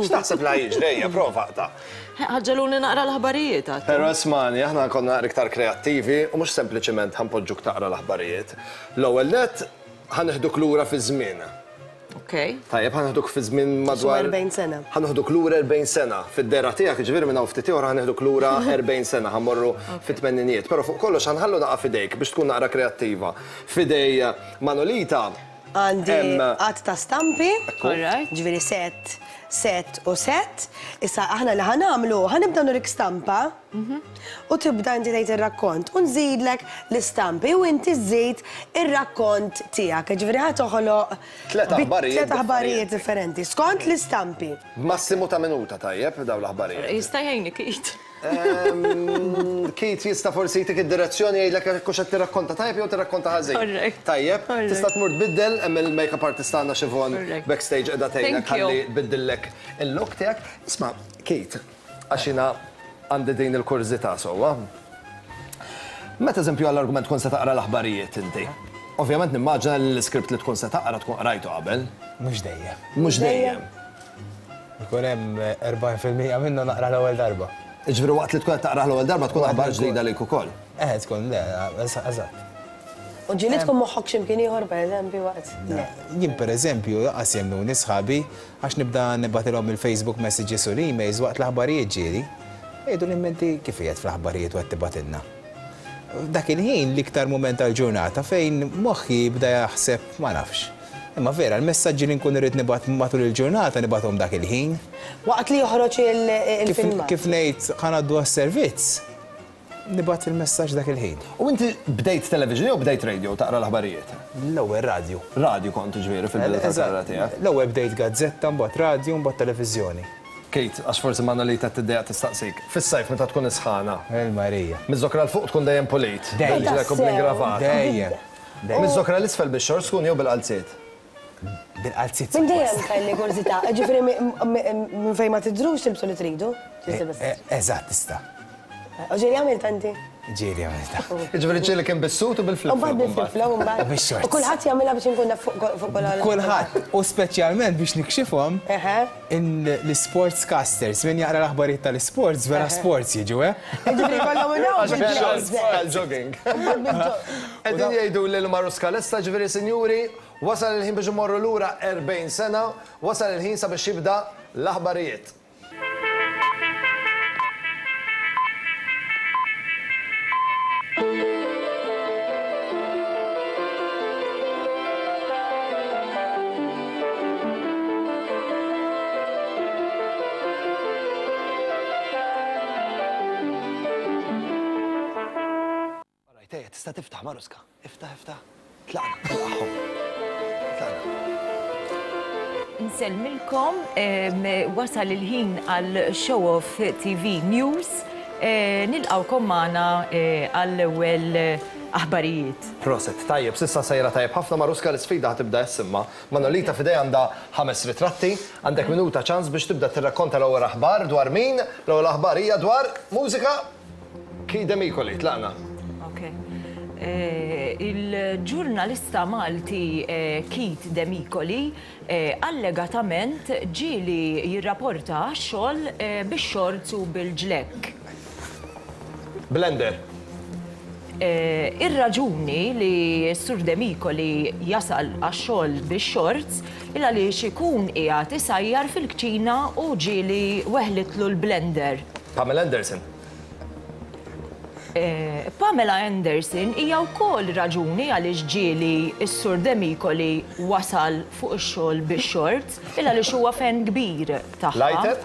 X'taħseb li jiġri, prova ta'. Ħaġġeluni naqra l-aħbarijiet. Però ismani, aħna konna iktar kreattivi u mhux sempliċement ħa npoġġuk taqra l-aħbarijiet. L-ewwel nett ħa neħduk lura fi żmien. Okej. Tajjeb, ħa neħduk fi żmien madwar erbgħin sena. Ħa neħduk lura erbgħin sena. Fid-dera tiegħek, jiġifieri minn hawn ftit ieħor ħa neħduk lura erbgħin sena, ħa mmorru fit-tmeninijiet. Però fuq kollox ħa nħallu naqa' f'idejk biex tkun naqra kreattiva. F'idej Manolita għandi għadd ta' stampi, ġifieri set, set u set. Issa aħna li ħa nagħmlu, ħa nibda nurik stampa u tibda inti tgħid ir-rakkont u nżidlek l-istampi u inti żżid ir-rakkont tiegħek. Ġifieri ħa toħloq tliet aħbarijiet tliet aħbarijiet differenti skont l-istampi. Massimu ta' minuta tajjeb dawn l-aħbarijiet. Jista' jgħinni Keith. Keith jista' forsi jtik id-direzzjoni jgħidlek jekk hux qed tirrakkonta tajjeb jew tirrakkonta ħażin. Tajjeb, tista' tmur tbiddel hemm il-makeup artist tagħna Siobhan backstage qiegħda tgħinek ħalli tbiddillek il-look tiegħek. Isma' Keith, għax jiena għandi din il-kurżità sewwa. Meta eżempju għall-argument tkun se taqra l-aħbarijiet inti. Ovvjament nimmaġina li l-iskript li tkun se taqra tkun qrajtu qabel. Mhux dejjem. Mhux dejjem. Ikun hemm erbgħin fil-mija minnu naqra l-ewwel darba. Ġifieri waqt li tkun qed taqra l-ewwel darba tkun aħbar ġdida lejk ukoll. Eh, tkun le, eżatt. U ġieli tkun moħħok x'imkien ieħor pereżempju waqt. Jien pereżempju laqas jemmnuni sħabi għax nibda nibgħatilhom il-Facebook messages u l-emails waqt l-aħbarijiet ġieli. Jgħidu li inti kif qiegħed fl-aħbarijiet u qed tibgħatilna. Dak il-ħin l-iktar mument tal-ġurnata fejn moħħi jibda jaħseb ma nafx. Imma vera, l-messaġġi li nkun irrid nibgħat matul il-ġurnata nibgħathom dak il-ħin. Waqt li joħroġ il-filmat. Kif ngħid ħa ngħaddu għas-servizz, nibgħat il-messaġġ dak il-ħin. U inti bdejt television jew bdejt radio taqra l-aħbarijiet? L-ewwel radio. Radio kont ġifieri fil-bidu tal-karriera tiegħek. L-ewwel bdejt gazzetta, mbagħad radio, mbagħad televiżjoni. Kate, għax forsi Manolita tiddejjaq tistaqsik. Fis-sajf meta tkun isħana. Il-Marija. Miż-żokra l fuq tkun dejjem pulit. Dejjem. Dejjem. Dejjem. Miż-żokra l-isfel bix-xorts tkun jew bil-qalziet? Bil-qalziet. Minn dejjem kelli kurżità, ġifieri minn fejn ma tidrux tilbsu li tridu? Eżatt, tista'. U ġieli għamilt inti? Ġieli għamilta. Ġifieri ġieli kien bis-sut u bil-flip. U mbagħad bil-flip-flop u mbagħad. U kulħadd jagħmilha biex inkun naf fuq kollha. Kulħadd, u speċjalment biex nikxifhom l-sports casters, min jaqra l-aħbarijiet tal-sports, vera sports jiġu, eh? Ġifieri kollhom Għal-jogging. Qegħdin jgħidu lil Maruska lesta, ġifieri sinjuri, wasal il-ħin biex imorru lura erbgħin sena, wasal il-ħin sabiex jibda l-aħbarijiet. Tista' tiftaħ Maruska, iftaħ, iftaħ. Tlaqna, tlaqhom. Tlaqna. Nsellmilkom, wasal il-ħin għal Show Off T V News. Nilqawkom magħna għall-ewwel aħbarijiet. Proset, tajjeb, sissa sejra tajjeb ħafna Maruska l-isfida ħatibda jessimma. Manolita f'idej għandha ħames ritratti, għandek minuta ċans biex tibda tirrakkonta l-ewwel aħbar dwar min, l-ewwel aħbar hija dwar mużika Keith Demicoli, tlaqna. Il-ġurnalista Malti Keith Demicoli allegatament ġieli jirrapporta għax-xogħol bix-xorts u bil-ġlekk. Blender. Ir-raġuni li s-Sur Demicoli jasal għax-xogħol bix-xorts il għaliex ikun qiegħed isajjar fil-kċina u ġieli weħlitlu l-blender. Pamela Anderson. Pamela Anderson hija wkoll raġuni għaliex ġieli s-Sur Demicoli wasal fuq ix-xogħol bix-xorts il għaliex huwa fan kbir tagħha. Lighter?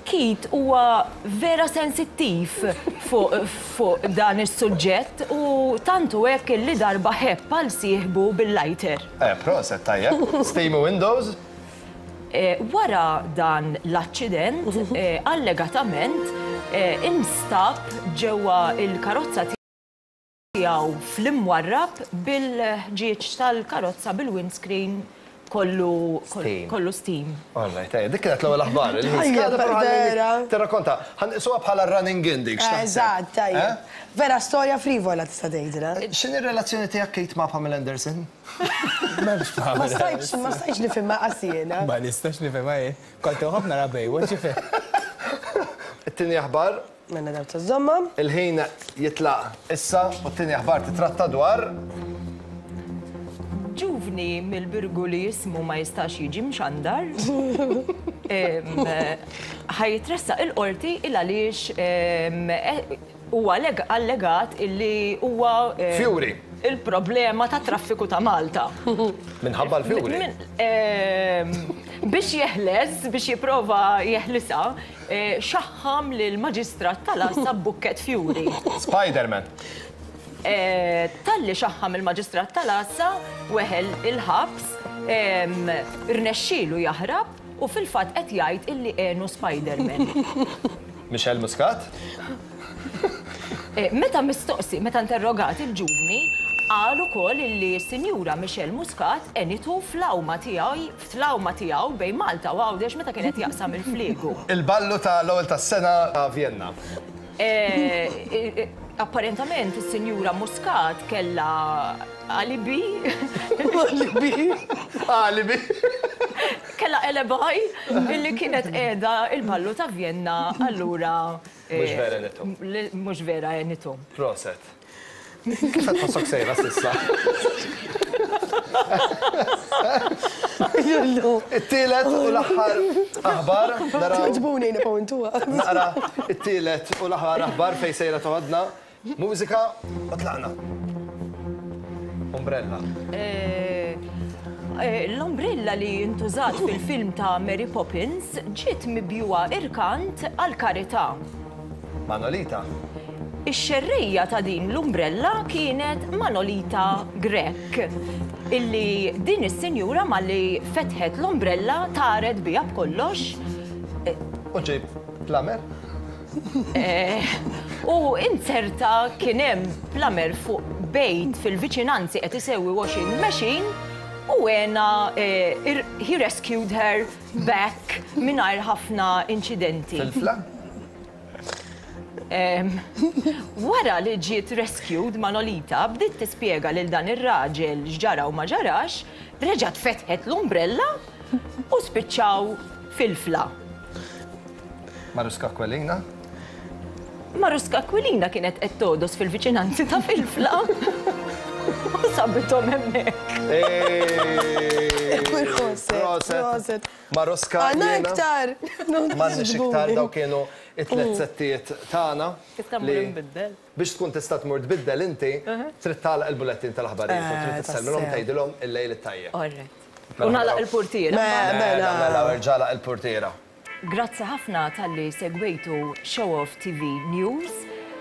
Keith huwa vera sensittiv fuq dan is-suġġett u tantu hekk li darba ħebb għal sieħbu bil-lighter. Eh, proset, tajjeb. Steamy Windows? Wara dan l-aċċident, allegatament, instab ġewwa il-karozza tiegħu fl-imwarrab bil-ħġieġ tal-karozza bil-windscreen Kollu kollu steam. All right, dik kienet l-ewwel aħbar. Tirrakkonta, ħanqisuha bħala running in dik. Eżatt, tajjeb. Vera storja frivola tista' tgħidilha. X'inhi r-relazzjoni tiegħek Kate ma' Pamela Anderson? Ma stajtx, ma stajtx nifhimha qas jiena. Ma nistax nifhimha jien. Kont inħobb nara Baywatch ġifier. It-tieni aħbar. Mela daw tażomma. Il-ħin jitlaq issa u t-tieni aħbar titratta dwar ġuvni mill-Birgu li jismu ma jistax jiġi mxandar, ħajtressaq il-qorti il għaliex huwa allegat illi huwa Fjuri. Il-problema ta' traffiku ta' Malta. Minħabba l-fjuri? Biex jeħles, biex jipprova jeħlisa, xaħħam lill-maġistrat tal-għassa b'bukket fjuri. Spider-Man. Talli xaħħam il-maġistrat tal-għassa, weħel il-ħabs, irnexxielu jaħrab u fil-fatt qed jgħid illi għenu Spider-Man. Michelle Muscat? Meta mistoqsi, meta interrogat il-ġuvni, qal ukoll illi s-sinjura Michelle Muscat għenitu fl-awma tiegħu, fl-awma tiegħu bejn Malta u Għawdex meta kienet jaqsam il-fliegu. Il-ballu tal-ewwel tas-sena ta' Vienna. Apparentament is-sinjura Muscat kellha alibi. Alibi. Alibi. Kellha alibi illi kienet qiegħda il-ballu ta' Vienna allura. Mhux vera għenitu. Mhux vera għenitu. Proset. Kif qed tħossok sejra s'issa? It-tielet u l-aħħar aħbar. Togħġbuni nibqgħu intuha. Naqra it-tielet u l-aħħar aħbar fejn sejra toħodna. Mużika u tlaqna. Umbrella. L-umbrella li ntużat fil-film ta' Mary Poppins ġiet mibjuha irkant għal-karità. Manolita. Ix-xerrejja ta' din l-umbrella kienet Manolita Grech, illi din is-sinjura malli fetħet l-umbrella taret biha b'kollox. U ġej plamer? U inzerta kien hemm plamer fuq bejt fil-viċinanzi qed isewwi washing machine u għena he rescued her back mingħajr ħafna inċidenti. Fil-fla? Wara li ġiet rescued Manolita bdiet tispjega lil dan ir-raġel x'ġara u ma ġarax, reġgħet fetħet l-umbrella u spiċċaw fil-fla. Maruska Aquilina? Maruska Aquilina kienet qed todos fil-viċinanzi ta' fil-fla u sabithom hemmhekk. Proset. Maruska. Għandna iktar. M'għandniex iktar daw kienu it-tliet settijiet tagħna. Tista' tmur inbiddel. Biex tkun tista' tmur tbiddel inti, trid tagħlaq il-bulettin tal-aħbarijiet u trid tisselmilhom tgħidilhom il-lejl it-tajjeb. All right. U nagħlaq il-portiera. Mela, mela, erġa' il-portiera. Grazzi ħafna talli segwejtu Show Off T V News.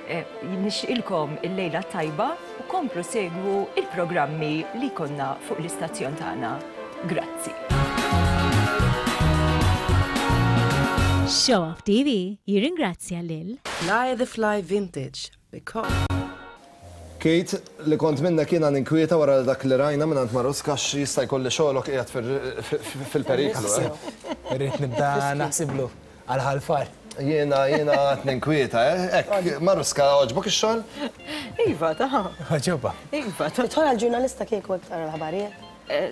Nixtieqilkom il-lejla tajba u komplu segwu il-programmi li konna fuq l-istazzjon tagħna. Grazzi. Show Off T V jirringrazzja lil Fly the Fly Vintage because Kate, li kont minna kiena ninkwieta wara dak li rajna minn għand Maruska jista' jkolli xogħolok qiegħed fil-periklu. Irrid nibda naħsiblu għal ħalfar. Jiena jiena qed ninkwieta, hekk Maruska għoġbok ix-xogħol? Iva, ta' Għoġobha. Iva, ta' Tidħol għall-ġurnalista kieku hekk tara l-aħbarijiet?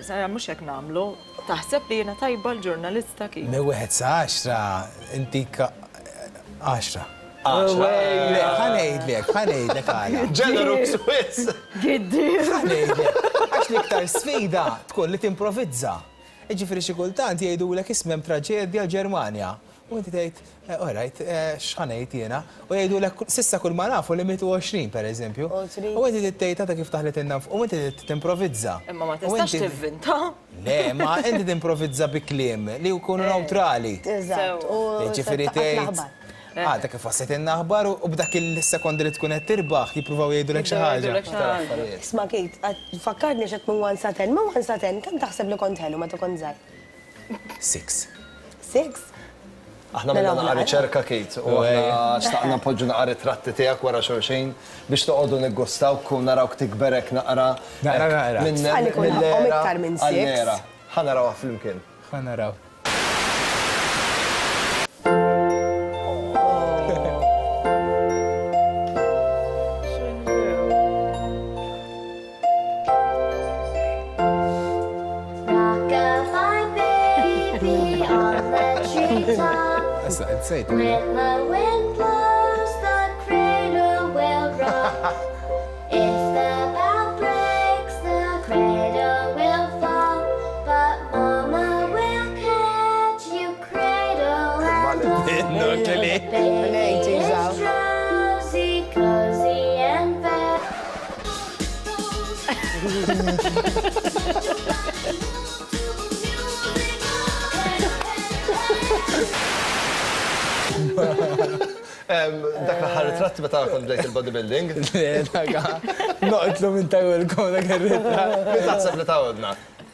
Sara, mhux hekk nagħmlu. Taħseb li jiena tajba l-ġurnalista kif? Minn wieħed sa għaxra intik għaxra. Għaxra. Ħa ngħidlek, ħa ngħidlek għala. Ġenerus wis. Giddi. Ħa ngħidlek. Għax l-iktar sfida tkun li timprovizza. Jiġifieri xi kultant jgħidulek ismem traġedja l-Ġermanja. U inti tgħid, all right, x'ħa ngħid jiena? U jgħidulek s'issa kull ma nafu li mietu għoxrin pereżempju. U inti tgħid ta' kif taħlet innaf u inti timprovizza. Imma ma tistax tivvinta. Le, ma inti timprovizza bi kliem li jkunu neutrali. Eżatt. Jiġifieri tgħid. Għadha kif waslet in-aħbar u b'dak il-sekondi li tkun qed tirbaħ jippruvaw jgħidulek xi ħaġa. Isma' Kate, fakkarni x'qed minn one sa ten, minn one sa ten, kemm taħseb li kont ħelu meta kont żgħir? Six. Six? Aħna minna naqra riċerka, Kate, u aħna xtaqna npoġġu naqra ritratti tiegħek wara xulxin biex toqgħodu niggustaw kun narawk tikberek naqra. Naqra naqra. Tfal ikun ħaqhom iktar minn six. Ħa narawha flimkien. Ħa naraw. Nsejt. When the wind blows, the cradle will rock. If the bough breaks, the cradle will fall. But Mama will catch you, cradle and all. Baby is drowsy, cozy and fair. Dak l-aħħar ritratt meta kont bdejt il-bodybuilding. Le, dak noqtlu minn tawilkom dak ir-ritratt. Min taħseb li tawilna?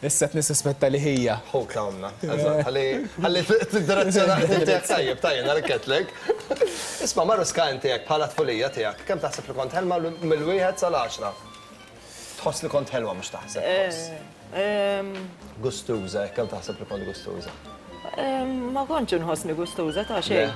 Issa qed nissuspetta li ħija. Ħuk tawilna. Eżatt, ħalli tiddirezzjona tiegħek tajjeb, tajjeb għalhekk qedlek. Isma' Maruska inti hekk bħala tfulija tiegħek, kemm taħseb li kont ħelma mill-wieħed sal-għaxra? Tħoss li kont ħelwa mhux taħseb. Gustuża, kemm taħseb li kont gustuża? Ma kontx inħossni gustuża ta' xejn.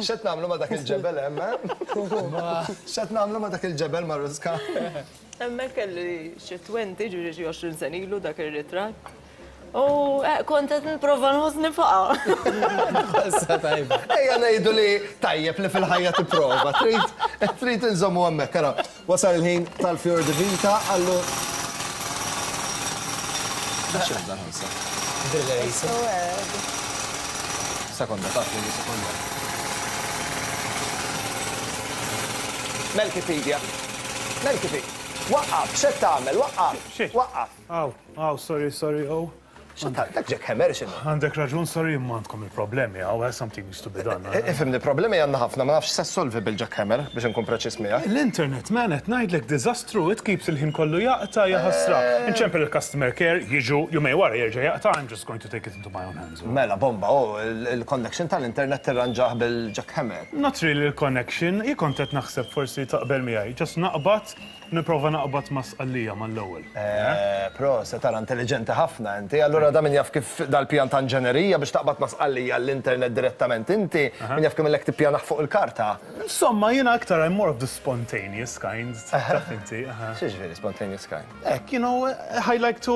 X'qed nagħmlu ma' dak il-ġebel hemm? X'qed nagħmlu ma' dak il-ġebel Maruska? Hemmhekk kelli xi twenty, ġifieri xi għoxrin sena ilu dak ir-ritratt. U kont qed nipprova nħossni faqa. Issa tajba. Ejja ngħidu li tajjeb li fil-ħajja tipprova. Trid trid inżommu hemmhekk, ara. Wasal il-ħin tal-Fjor di Vita, allu. Sekonda, taf li sekonda. Melkipedia. Melkipedia. Waqqaf, x'qed tagħmel, waqqaf. Waqqaf. Aw, aw, sorry, sorry, oh. Dak jackhammer x'inhu? Għandek raġun, sorry, imma għandkom il-problemi, għaw, something needs to be done. Ifhimni, problemi għandna ħafna, ma nafx se solvi bil-jackhammer biex inkun preċiż miegħek. L-internet, man, qed ngħidlek diżastru, it keeps il-ħin kollu jaqta' jaħasra. Inċempel il-customer care, jiġu, jumej wara jerġa' jaqta', I'm just going to take it into my own hands. Mela, bomba, oh, il-connection tal-internet tirranġah bil-jackhammer. Not really il-connection, jien kont qed naħseb forsi taqbel miegħi, just naqbad, nipprova naqbad ma' Sqallija mal-ewwel. Pro, se tara intelligenti ħafna inti, allura da min jaf kif dal-pjan ta' inġenerija biex taqbad ma' Sqallija l-internet direttament inti, min jaf kemm illek tippjanaħ fuq il-karta. Insomma, jiena aktar I'm more of the spontaneous kind, taf inti. X'jiġifieri spontaneous kind? Ek, you know, I like to,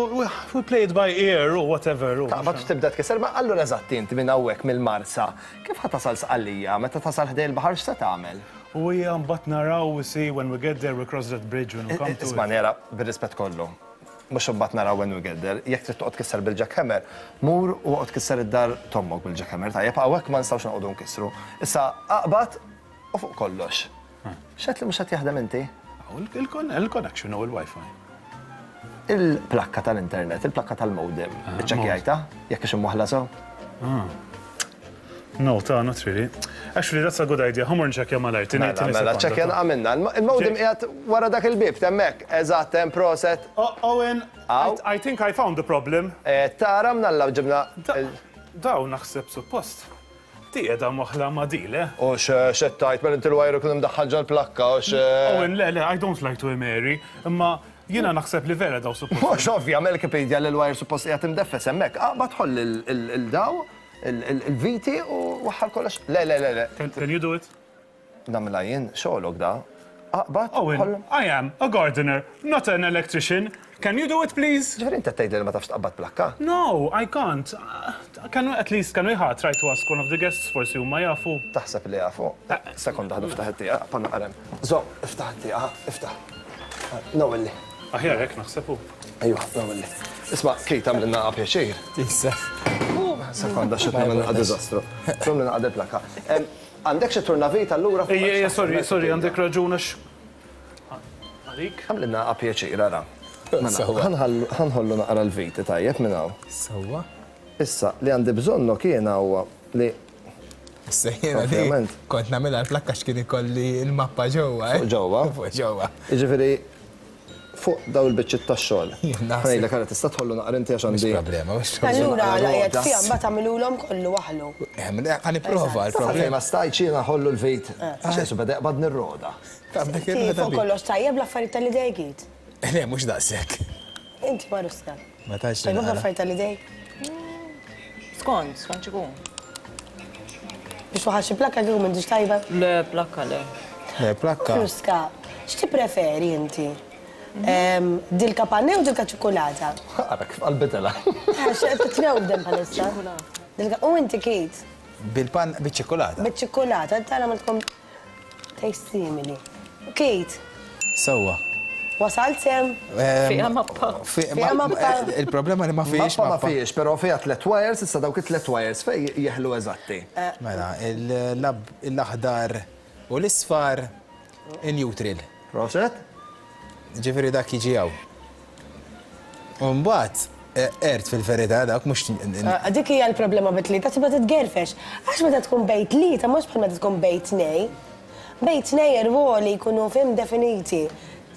we play it by ear or whatever. Taqbad u tibda tkisser, ma allura eżatt inti minn hawnhekk mill-Marsa, kif ħa tasal Sqallija, meta tasal ħdej il-baħar x'se tagħmel? U hija mbagħad naraw, we see when we get there, we cross that bridge when we come to it. Isma' nera, bir-rispett kollu. Mhux imbagħad naraw when we get there, jekk trid toqgħod tkisser bil-jackhammer, mur u oqgħod tkisser id-dar tommok bil-jackhammer, tajjeb hawnhekk ma nistgħux noqogħdu nkissru. Issa aqbad u fuq kollox. X'qed li mhux qed jaħdem inti? Il-connection u il-Wi-Fi. Il-plakka tal-internet, il-plakka tal-modem, iċċekkjajta jekk ix imwaħla sew? No, ta' not really. Actually, that's a good idea. Ħa mmur nċekkja malajr. Mela, mela, ċekkja għamilna. Il-modem qiegħed wara dak il-bib, temmek. Eżatt, hemm proset. Owen, I think I found the problem. Tara mnalla ġibna. Daw naħseb suppost. Di qiegħda moħla ma' di, le? U x'qed mela inti l-wajru kien imdaħħal ġol-plakka u x'. Owen, le, le, I don't like to be Mary, imma jiena naħseb li vera daw suppost. Mhux ovvja, Melkipedia li l-wajr suppost qiegħed imdeffes hemmhekk. Aqbad ħoll il-daw. Il-viti u waħħal kollox. Le, le, le, le. Can you do it? Namla jien, xogħolok da. Aqbad. Owen, I am a gardener, not an electrician. Can you do it, please? Ġifieri inti tgħidli li ma tafx tqabbad plakka? No, I can't. Can we at least, can we try to ask one of the guests forsi huma jafu? Taħseb li jafu. Sekonda ħadu ftaħ it-tieqa, panna qarem. Żomm, iftaħ it-tieqa, iftaħ. Nawilli. Aħjar hekk naħseb hu. Ejwa, nawilli. Isma' Kate għamlilna pjaċir. Issa. Sekonda, xi tagħmel naqgħa diżastru. Żomm li naqgħa plakka. Għandek xi turnavit allura? Ejja, sorry, sorry, għandek raġun għax. Għalik? Għamlilna pjaċir, ara. Ħa nħollu naqra l-viti tajjeb minn hawn. Sewwa. Issa, li għandi bżonnu kiena huwa li. Issa jiena li kont nagħmilha l-plakka x'kien ikolli l-mappa ġewwa. Fuq ġewwa. Fuq ġewwa. Jiġifieri fuq daw il-biċċiet tax-xogħol. Ngħidlek ara tista' tħollu naqra inti għax għandi. Mhux problema, mhux problema. Allura la qiegħed fiha mbagħad tagħmilulhom kollu waħlu. Ħa nipprova l-problema. Ma stajtx jiena ħollu l-vit. Għax qisu beda jaqbad nirroda. Fuq kollox tajjeb l-affarijiet tal-idej Kit. Le, mhux daqshekk. Inti Maruska. Ma tantx. Tajjeb l-affarijiet tal-idej? Skont, skont x'ikun. Biex waħal xi plakka kieku m'intix tajba? Le, plakka le. Le, plakka. Maruska, x'tippreferi inti? Dilka panne u dilka ċokolata? Ara kif qalbitela. Għax qed titnewdem bħalissa. Dilka u inti Kate? Bil-pan biċ-ċokolata. Biċ-ċokolata, tara ma tkun taste simili. Kate. Sewwa. Wasalt sem? Fiha mappa. Fiha mappa. Il-problema li ma fihiex mappa. Ma fihiex, però fiha tliet wires, issa dawk it-tliet wires fejn jeħlu eżatti. Mela, l-aħdar u l-isfar in neutral. Proset? Ġifieri dak jiġi hawn. U mbagħad ert fil-verità dak mhux. Dik hija l-problema bit-tlieta tibda titgerfex. Għax meta tkun bejn tlieta mhux bħal meta tkun bejn tnejn. Bejn tnejn ir-ruoli jkunu fim definiti.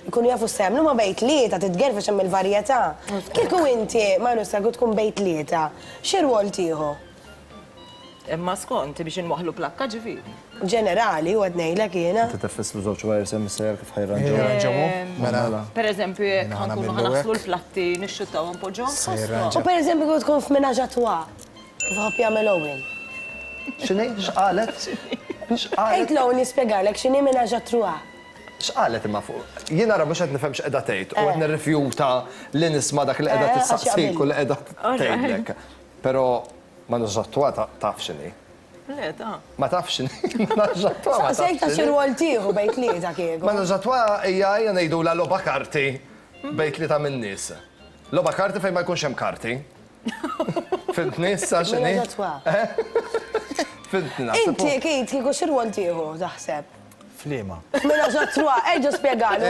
Jkunu jafu x'jagħmlu ma bejn tlieta titgerfex hemm il-varjetà. Kieku inti Maruska tkun bejn tlieta, xi rwol tieħu? Imma skont biex inwaħħlu plakka ġifieri. Ġenerali u qed ngħidlek jiena. Inti tifisslu żewġ wires hemm sejjer kif ħajranġaw. Mela. Pereżempju jekk ħankunu ħanaħslu l-platti nixxuttawhom poġġhom f'posthom. U pereżempju kieku tkun f'menage à trois, kif ħobb jagħmel Owen. X'inhi? X'qalet? X'qalet? Għid l-Owen jispjegalek x'inhi menage à trois. X'qalet imma fuq? Jien nara mhux qed nifhem x'qiegħda tgħid u qed nirrifjuta li nisma' dak li qiegħda tissaqsik u li qiegħda tgħidlek. Però menage à trois taf x'inhi. Le, ta. Ma tafx x'inhi. Menage à trois ma tafx. Saqsejt ta' xi rwol tieħu bejn tlieta kieku. Menage à trois hija hija ngħidulha logħba karti bejn tlieta min-nies. Logħba karti fejn ma jkunx hemm karti. Fimtni issa x'inhi? Menage à trois. Fimtni. Inti Kate kieku xi rwol tieħu taħseb? Flima. Menage à trois, erġa' spjegalu.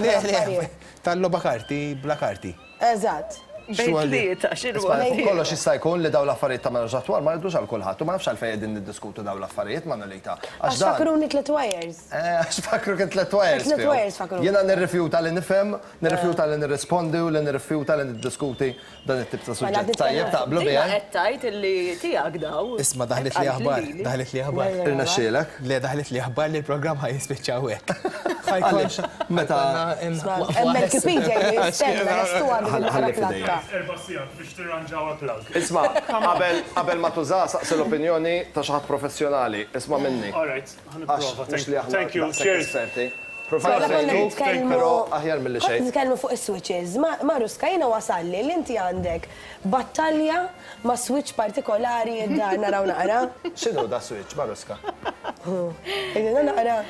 Le, le, tal-logħba karti bla karti. Eżatt. Bejn tlieta, xi rwol. Kollox jista' jkun li dawn l-affarijiet ta' menage à trois ma rridux għal kulħadd u ma nafx għalfejn qegħdin niddiskutu dawn l-affarijiet Manolita. Għax fakruni tliet wires. Għax fakru kien tliet wires. Tliet wires fakru. Jiena nirrifjuta li nifhem, nirrifjuta li nirrispondi u li nirrifjuta li niddiskuti dan it-tip ta' suġġett. Tajjeb taqblu biha. Qed tgħid illi tiegħek daw. Isma' daħlet li aħbar, daħlet li aħbar. Irnexxielek? Le daħlet li aħbar li l-programm ħaj jispiċċaw hekk. Għaliex meta Hemm Wikipedia jistenna restu Ħalli f'idejja. Erba' sigħat biex tirranġaw plug. Isma' qabel ma tuża saqsi l-opinjoni ta' xi ħadd professjonali. Isma' minni. All right, ħa nipprova. Thank you. Cheers. Però aħjar milli xejn. Nitkellmu fuq is-switches. Maruska jiena wasalli li inti għandek battalja ma' switch partikolari id-dar naraw naqra. X'inhu da switch, Maruska? Ejja naqra.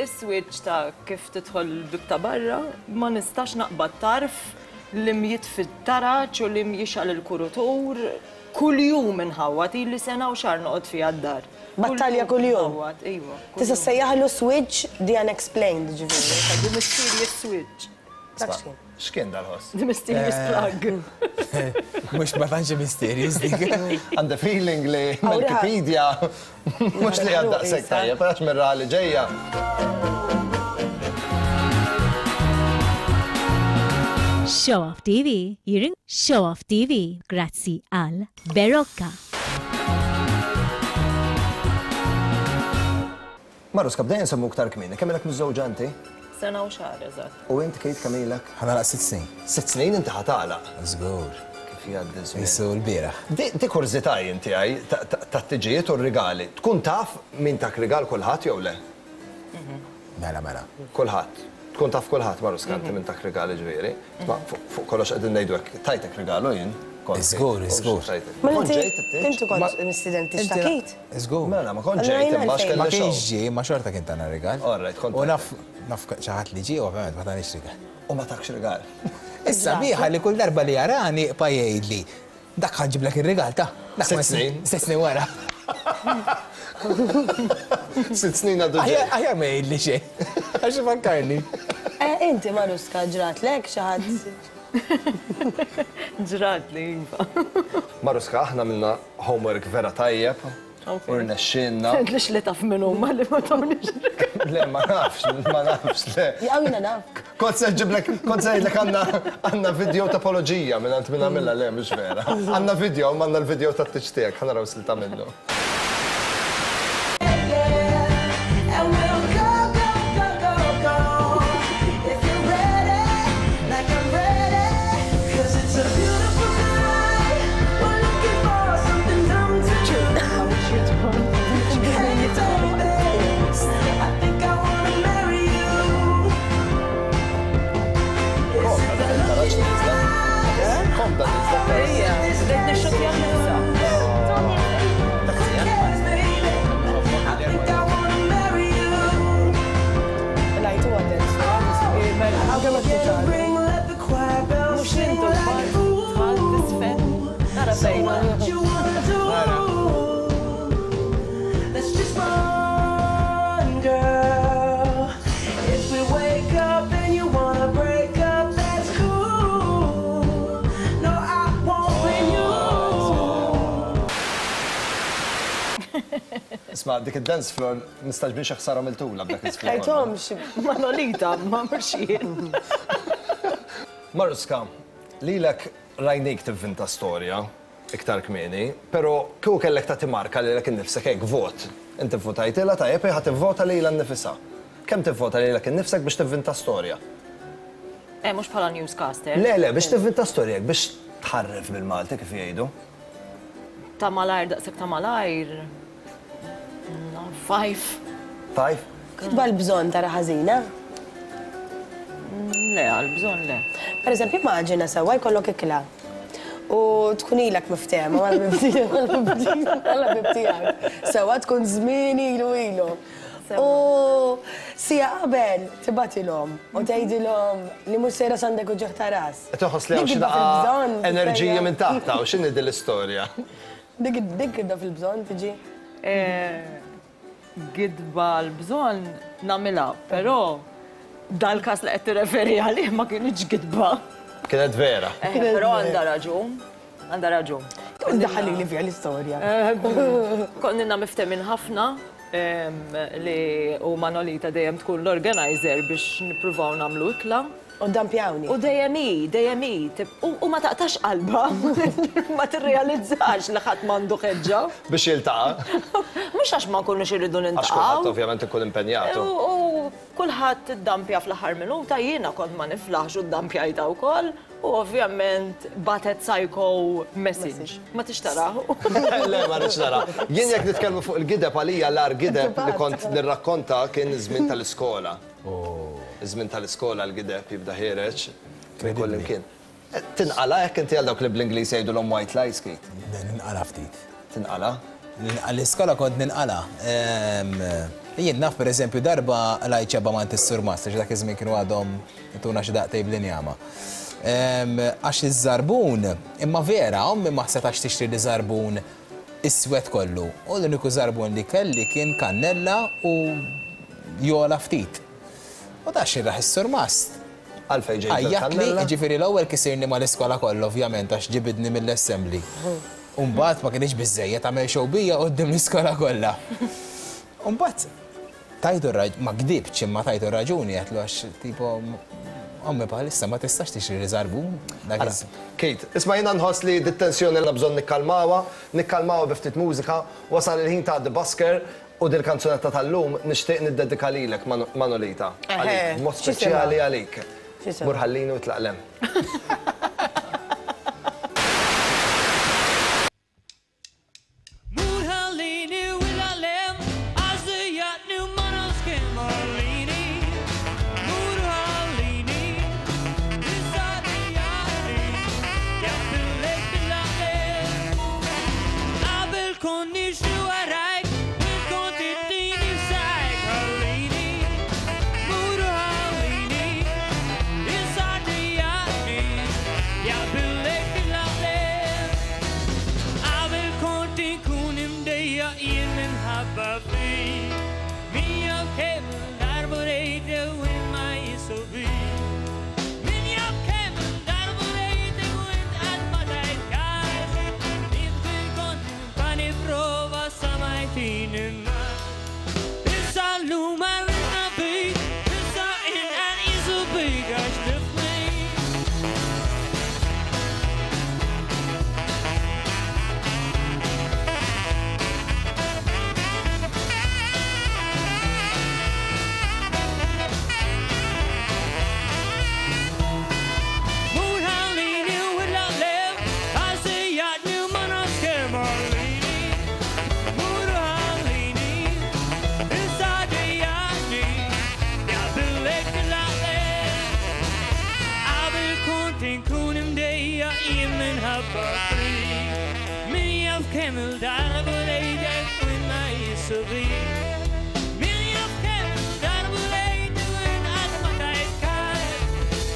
Is-switch ta' kif tidħol l-bib ta' barra ma nistax naqbad tarf li mjit fit-taraġ u li mjixal il-kurutur kuljum inħawwad ili sena u xahar noqgħod fiha d-dar. Battalja kuljum. Iva. Tista' ssejjaħlu switch the unexplained ġifieri. The mysterious switch. X'kien dal-ħoss? The mysterious plug. Mhux ma tantx mysterious dik. Għandi feeling li Wikipedia mhux li għad daqshekk tajjeb, għax mir-raha li ġejja. Show Off T V, jirin Show Off T V, grazzi għal Berocca. Maruska, bdejna nsemmu iktar kmieni, kemm ilek miżżewġa inti? Sena u xahar, eżatt. U int Kate kemm ilek? Ħa nagħlaq sitt snin. Sitt snin inti ħa tagħlaq? Żgur. Kif jgħaddi żmien. Issu l-bieraħ. Di kurżità inti għaj tat-tiġijiet u r-rigali. Tkun taf min tak rigal kulħadd jew le? Mela, mela. Kulħadd. Tkun taf kulħadd, Maruska, inti min tak rigali ġifieri. Ma fuq kollox qegħdin ngħidu hekk, tajtek rigalu jien. Żgur, żgur. Ma inti kont mistieden tixtakit? Żgur. Mela, ma kont ġejt imma x'kelli. Ma kienx ġie, ma xorta kien tana rigal. All right, kont. U naf naf xi ħadd li ġie, ovvjament ma tanix rigal. U ma takx rigal. Issa biħa li kull darba li jarani pa jgħidli. Dak ħa nġiblek ir-rigal ta' Sitt snin. Sitt snin wara. Sitt snin għadu ġej. Aħjar ma jgħidli xejn. Għax ifakkarni. Inti Maruska ġratlek xi ħadd? Ġratli, iva. Maruska, aħna minna homework vera tajjeb. U rnexxinna. Lix li taf minn huma li ma tawniex. Le, ma nafx, ma nafx, le. Jaw jiena naf. Kont se ġiblek, kont se ngħidlek għandna għandna video ta' apoloġija minn għand minn għamilha, le, mhux vera. Għandna video, ma għandna l-video ta' tiċ tiegħek, ħa naraw silta minnu. Isma' dik id-dance floor nistaġbin xi ħsara mill-tula b'dak iż-żmien. Ħajthomx Manolita, ma mhux jien. Maruska, lilek rajnik tivvinta storja iktar kmieni, però kieku kellek tagħti marka lilek innifsek hekk vot. Inti vvotajtilha tajjeb ħa tivvota lilha nnifisha. Kemm tivvota lilek innifsek biex tivvinta storja? Eh, mhux bħala newscaster. Le, le, biex tivvinta storja hekk biex tħarref bil-Malti kif jgħidu. Ta' malajr, daqshekk ta' malajr. Five. Five? Kitba l-bżonn tara ħażina? Le, għal-bżonn le. Per eżempju, immaġina sewwa jkollok ikla. U tkun ilek miftehma mal-ħbib tiegħek. Sewwa tkun żmien ilu ilu. U sija qabel tibatilhom u tgħidilhom li mhux sejra s'għandek uġigħ ta' ras. Qed toħoss li hawn xi daqqa enerġija minn taħtha u x'inhi din l-istorja? Dik dik kibda fil-bżonn tiġi? Gidba l-bżonn nagħmilha, però dal-każ li qed tirreferi għalih ma kienx gidba. Kienet vera. Però għandha raġun, għandha raġun. Daħalli li fiha l-istorja. Konna miftemin ħafna li u Manolita dejjem tkun l-organizer biex nippruvaw nagħmlu ikla. U dampjawni. U dejjem hi, dejjem hi, u ma taqtax qalba, ma tirrealizzax li ħadd m'għandu ħeġġa. Biex jiltaqa'. Mhux għax ma nkunux irridu niltaqgħu. Għax kulħadd ovvjament ikun impenjatu. U kulħadd iddampja fl-aħħar minuta, jiena kont ma niflaħx u ddampjajta wkoll. U ovvjament batet psycho message. Ma tix taraw. Le, ma rridx nara. Jien jekk nitkellmu fuq il-gideb għalija l-agħar gideb li kont nirrakkonta kien iż-żmien tal-iskola. Iż-żmien tal-iskola l-gideb jibda ħiereġ minn kull imkien. Tinqala jekk inti għal dawk li bl-Ingliż jgħidulhom white lies, Kate? Ninqala ftit. Tinqala? L-iskola kont ninqala. Jien naf pereżempju darba lajt xebba ma' is-surmast, għax dak iż-żmien kienu għadhom tuna xi daqtej bl-injama. Għax iż-żarbun, imma vera, ommi ma setax tixtri li żarbun iswed kollu. U l-uniku żarbun li kelli kien kannella u jola ftit. U da xirraħ is-surmast. Għalfejn ġejt Għajjatli, ġifieri l-ewwel kisirni mal-iskola kollha ovvjament għax ġibidni mill-assembly. U mbagħad ma kienx biżżejjed għamel xewbija quddiem l-iskola kollha. U mbagħad tajtu ma kdibx imma tajtu raġuni għedtlu għax tipo ommi bħalissa ma tistax tixtri żarbun. Kate, isma' jiena nħoss li dit-tensjoni li bżonn nikkalmawha, nikkalmawha bi ftit mużika, wasal il-ħin ta' The Busker. U dil kanzunetta tal-lum nixtieq niddedika lilek Manolita. Għalik, mod speċjali għalik. Mur ħallini u tlaq 'l hemm. Mur ħallini, imħabba fik. Min jaf kemm il-darba lejtek u ma jisubik. Min jaf kemm il-darba lejtek u qatt ma tajt kas.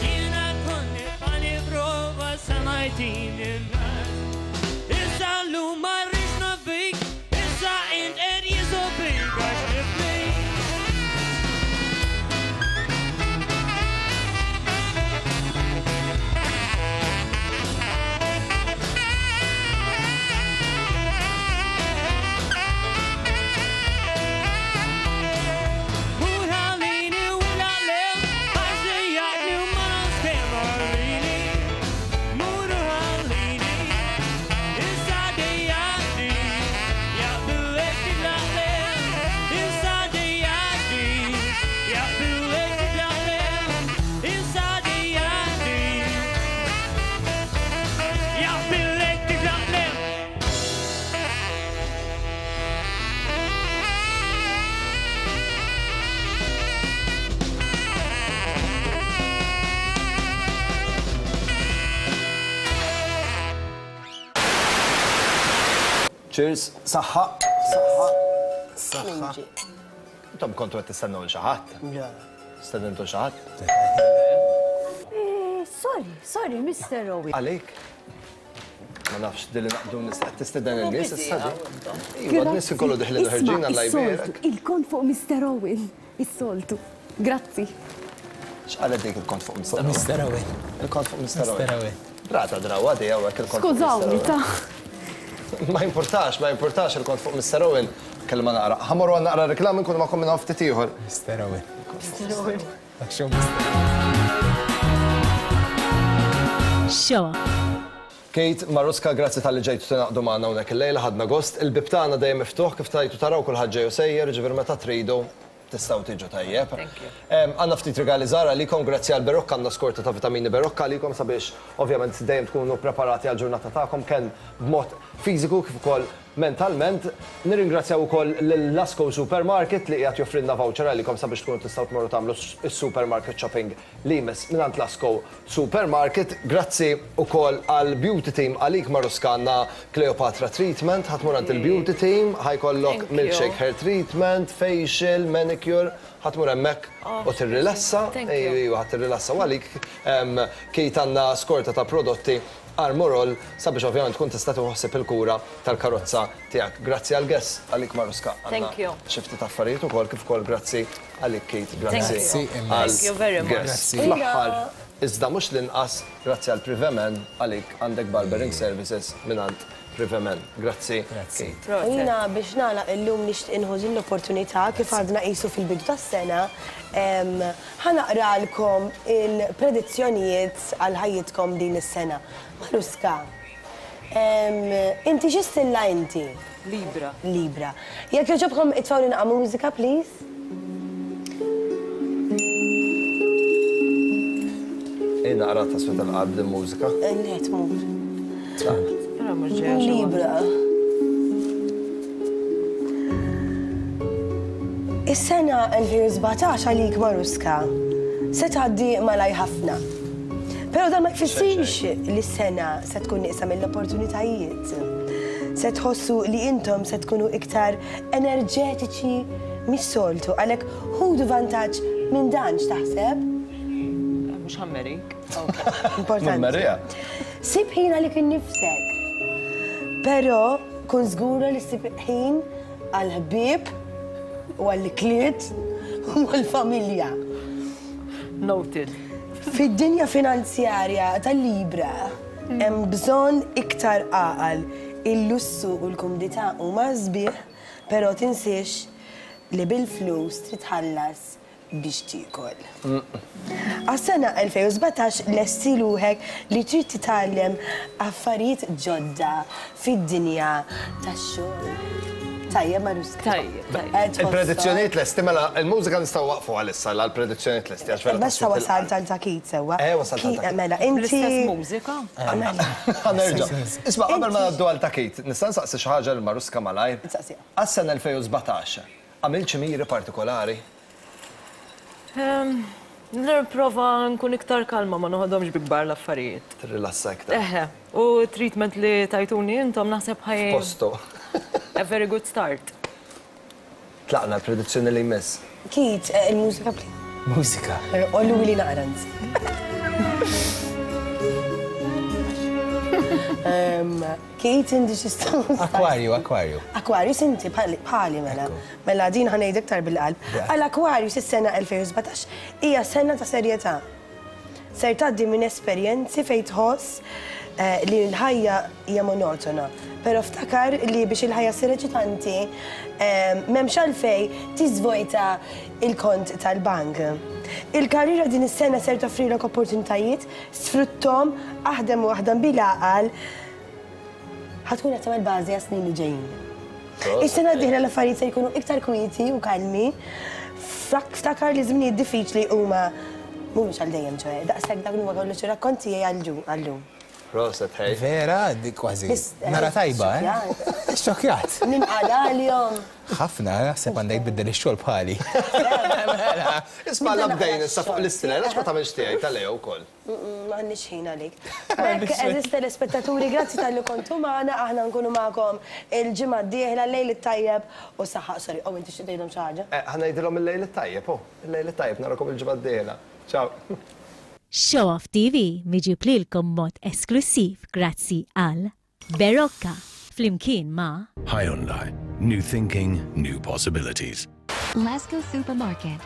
Jiena kont nibqa' nipprova sa ma jtini n-nas. Issa llum ma rridx naf bik, issa int qed jisubik għax niflik. Mur ħallini u naqleb, għax dejjaqni u ma nafx kemm ħallini. Mur ħallini, issa dejjaqni, jaqbilek titlaqleb, issa dejjaqni, jaqbilek titlaqleb, issa dejjaqni, jaqbilek titlaqleb. Cheers, saħħa, saħħa, saħħa. Intom kontu qed tistennew lil xi ħadd? Stennew xi ħadd? Eh, Sorry, sorry, Mister Owen. Għalik? Ma nafx dilli naqdu nis qed tistieden in-nies issa di. Iva, n-nies ikollu diħlin u ħerġin Alla jbierek. Il-kont fuq Mister Owen, is-soltu. Grazzi. X'qalet dik il-kont fuq Mister Owen? Mister Owen. Il-kont fuq Mister Owen. Mister Owen. Rata drawa di hawnhekk il-kont fuq Mister Skużawni, Owen. ta' Ma importax, ma importax il-kont fuq Mister Owen. Kelma naqra. Ħa mmorru għal naqra reklam nkunu magħkom minn hawn ftit ieħor. Mister Owen. Mister Owen. Dak xew Mister Show. Kate, Maruska, grazzi tal-li ġejtu tingħaqdu magħna hawnhekk illejla, ħadna gost. Il-bib tagħna dejjem miftuħ kif tajtu taraw kulħadd ġej u sejjer, ġifier meta tridu tistgħu tiġu tajjeb. Thank you. Em, Għandna ftit rigali żgħar għalikom, grazzi għal Berocca, għandna skorta ta' vitamini Berocca għalikom sabiex ovvjament dejjem tkunu preparati għal ġurnata tagħkom kemm b'mod fiżiku kif ukoll mentalment. Nirringrazzjaw ukoll lil Lasco Supermarket li qiegħed joffrilna voucher għalikom sabiex tkunu tistgħu tmorru tagħmlu s-supermarket shopping li jmiss mingħand Lasco Supermarket. Grazzi ukoll għal Beauty Team għalik Maruska għandna Cleopatra Treatment, ħa tmur għand il-Beauty Team, ħa jkollok Thank you. milkshake hair treatment, facial, manicure, ħa tmur hemmhekk Oh, u tirrilassa. thank you. Ejju, ħa tirrilassa u għalik em, Kate għandna skorta ta' prodotti Armorol sabiex ovvjament tkun tista' tħossib il-kura tal-karozza tiegħek. Grazzi għal guest għalik Maruska. Għandna Thank you. Xi ftit affarijiet ukoll kif ukoll grazzi għalik Kate, grazzi Grazzi, għal Thank you very much. guest. Fl-aħħar, iżda mhux l-inqas, grazzi għal Privemen għalik għandek barbering services mingħand Privemen. Grazzi Grazzi. Kate. U Jiena biex nagħlaq illum nixtieq inħu din l-opportunità kif għadna qisu fil-bidu tas-sena, em, ħa naqralkom il-predizzjonijiet għal ħajjitkom din is-sena. Maruska, em, inti xi stilla inti? Libra. Libra. Jekk jogħġobkom itfgħu naqra mużika, please. Ej naqra ta' swet il-qalb din mużika. Le, tmur. Però mhux ġejja xi Libra. Is-sena elfejn u sbatax għalik Maruska se tgħaddi malaj ħafna. Però dan ma jfissirx li s-sena se tkun nieqsa mill-opportunitajiet. Se tħossu li intom se tkunu iktar enerġetiċi mis-soltu, għalhekk ħudu vantaġġ minn dan x'taħseb? Mhux ħammerik. Importanti. Marija. Sib ħin għalik innifsek. Però kun żgura li ssib ħin għall-ħbieb u għall-ikliet u għall-familja. Noted. Fid-dinja finanzjarja tal-Libra hemm bżonn iktar għaqal. Il-lussu u l-kumdità huma sbieħ, però tinsiex li bil-flus trid tħallas biex tiekol. Għas-sena elfejn u sbatax lesti ruħek li trid titgħallem affarijiet ġodda fid-dinja tax-xogħol. Tajjeb, Maruska. Tajjeb, tajjeb. Eh, tħossok. Il-predizzjonijiet lesti, mela il-mużika nistgħu waqfu għalissa għall-predizzjonijiet lesti għax vera Basta taswit wasalt il-qalb. għal ta' Kate sewwa. Eh, wasalt għal ta' Kate. Mela, inti. L-istess mużika? Ħa nerġa'. Isma' qabel ma ngħaddu għal ta' Kate, nista' nsaqsi xi ħaġa lil Maruska malajr. Nsaqsiha. Għas-sena elfejn u sbatax, għamilt xi miri partikolari? Ehm, Nipprova nkun iktar kalma, ma noħodhomx bi kbar l-affarijiet. Tirrilassa iktar. Eħe, u treatment li tajtuni intom naħseb ħaj. Posto. A very good start. Tlaqna l-predizzjoni li jmiss. Keith, eh, il-mużika please. Mużika. Ollu li naqra nsi. Ehm, Keith, inti xi Aquario, Aquario. Aquarius inti bħali bħali mela. Mela din ħa ngħid iktar bil-qalb. Għal Aquarius is-sena elfejn u sbatax hija sena ta' serjetà. Ser tgħaddi minn esperjenzi fejn tħoss eh, li l-ħajja hija monotona. Però ftakar li biex il-ħajja ssir eċitanti, eh, m'hemmx għalfejn tiżvojta il-kont tal-bank. Il-karriera din is-sena ser toffrilok opportunitajiet, sfruttom, aħdem u aħdem bil-għaqal, ħa tkun qed tagħmel bażi għas-snin li ġejjin. Is-sena d-dieħla l-affarijiet se jkunu iktar kwieti u kalmi. Fak- Ftakar li żminijiet diffiċli huma mhumiex għal dejjem ċoè. Daqshekk dak huwa kollu xi rakkont tiegħi għal-llum. Proset, hej. Vera, dik kważi. Biss, eh, Nara tajba, eh? Xokjat. Ninqala għalihom. Ħafna, naħseb għandek tbiddel ix-xogħol bħali. Isma' la bdejn issa fuq l-istilla, għax ma tagħmilx tiegħi tal-Leo wkoll? M'għandniex ħin għalik. B'hekk, għeżież telespettaturi, grazzi talli kontu magħna, aħna nkunu magħkom il-ġimgħa d-dieħla, lejl it-tajjeb u saħħa. Sorry, oh, inti xi tgħidhom xi ħaġa? Eh, ħa ngħidilhom il-lejl it-tajjeb, oh, il-lejl it-tajjeb, narakom il-ġimgħa d-dieħla. Ciao. Show Off T V miġib lilkom mod esklusiv grazzi għal Berocca flimkien ma' Hyundai. New thinking, new possibilities. Lasco Supermarket.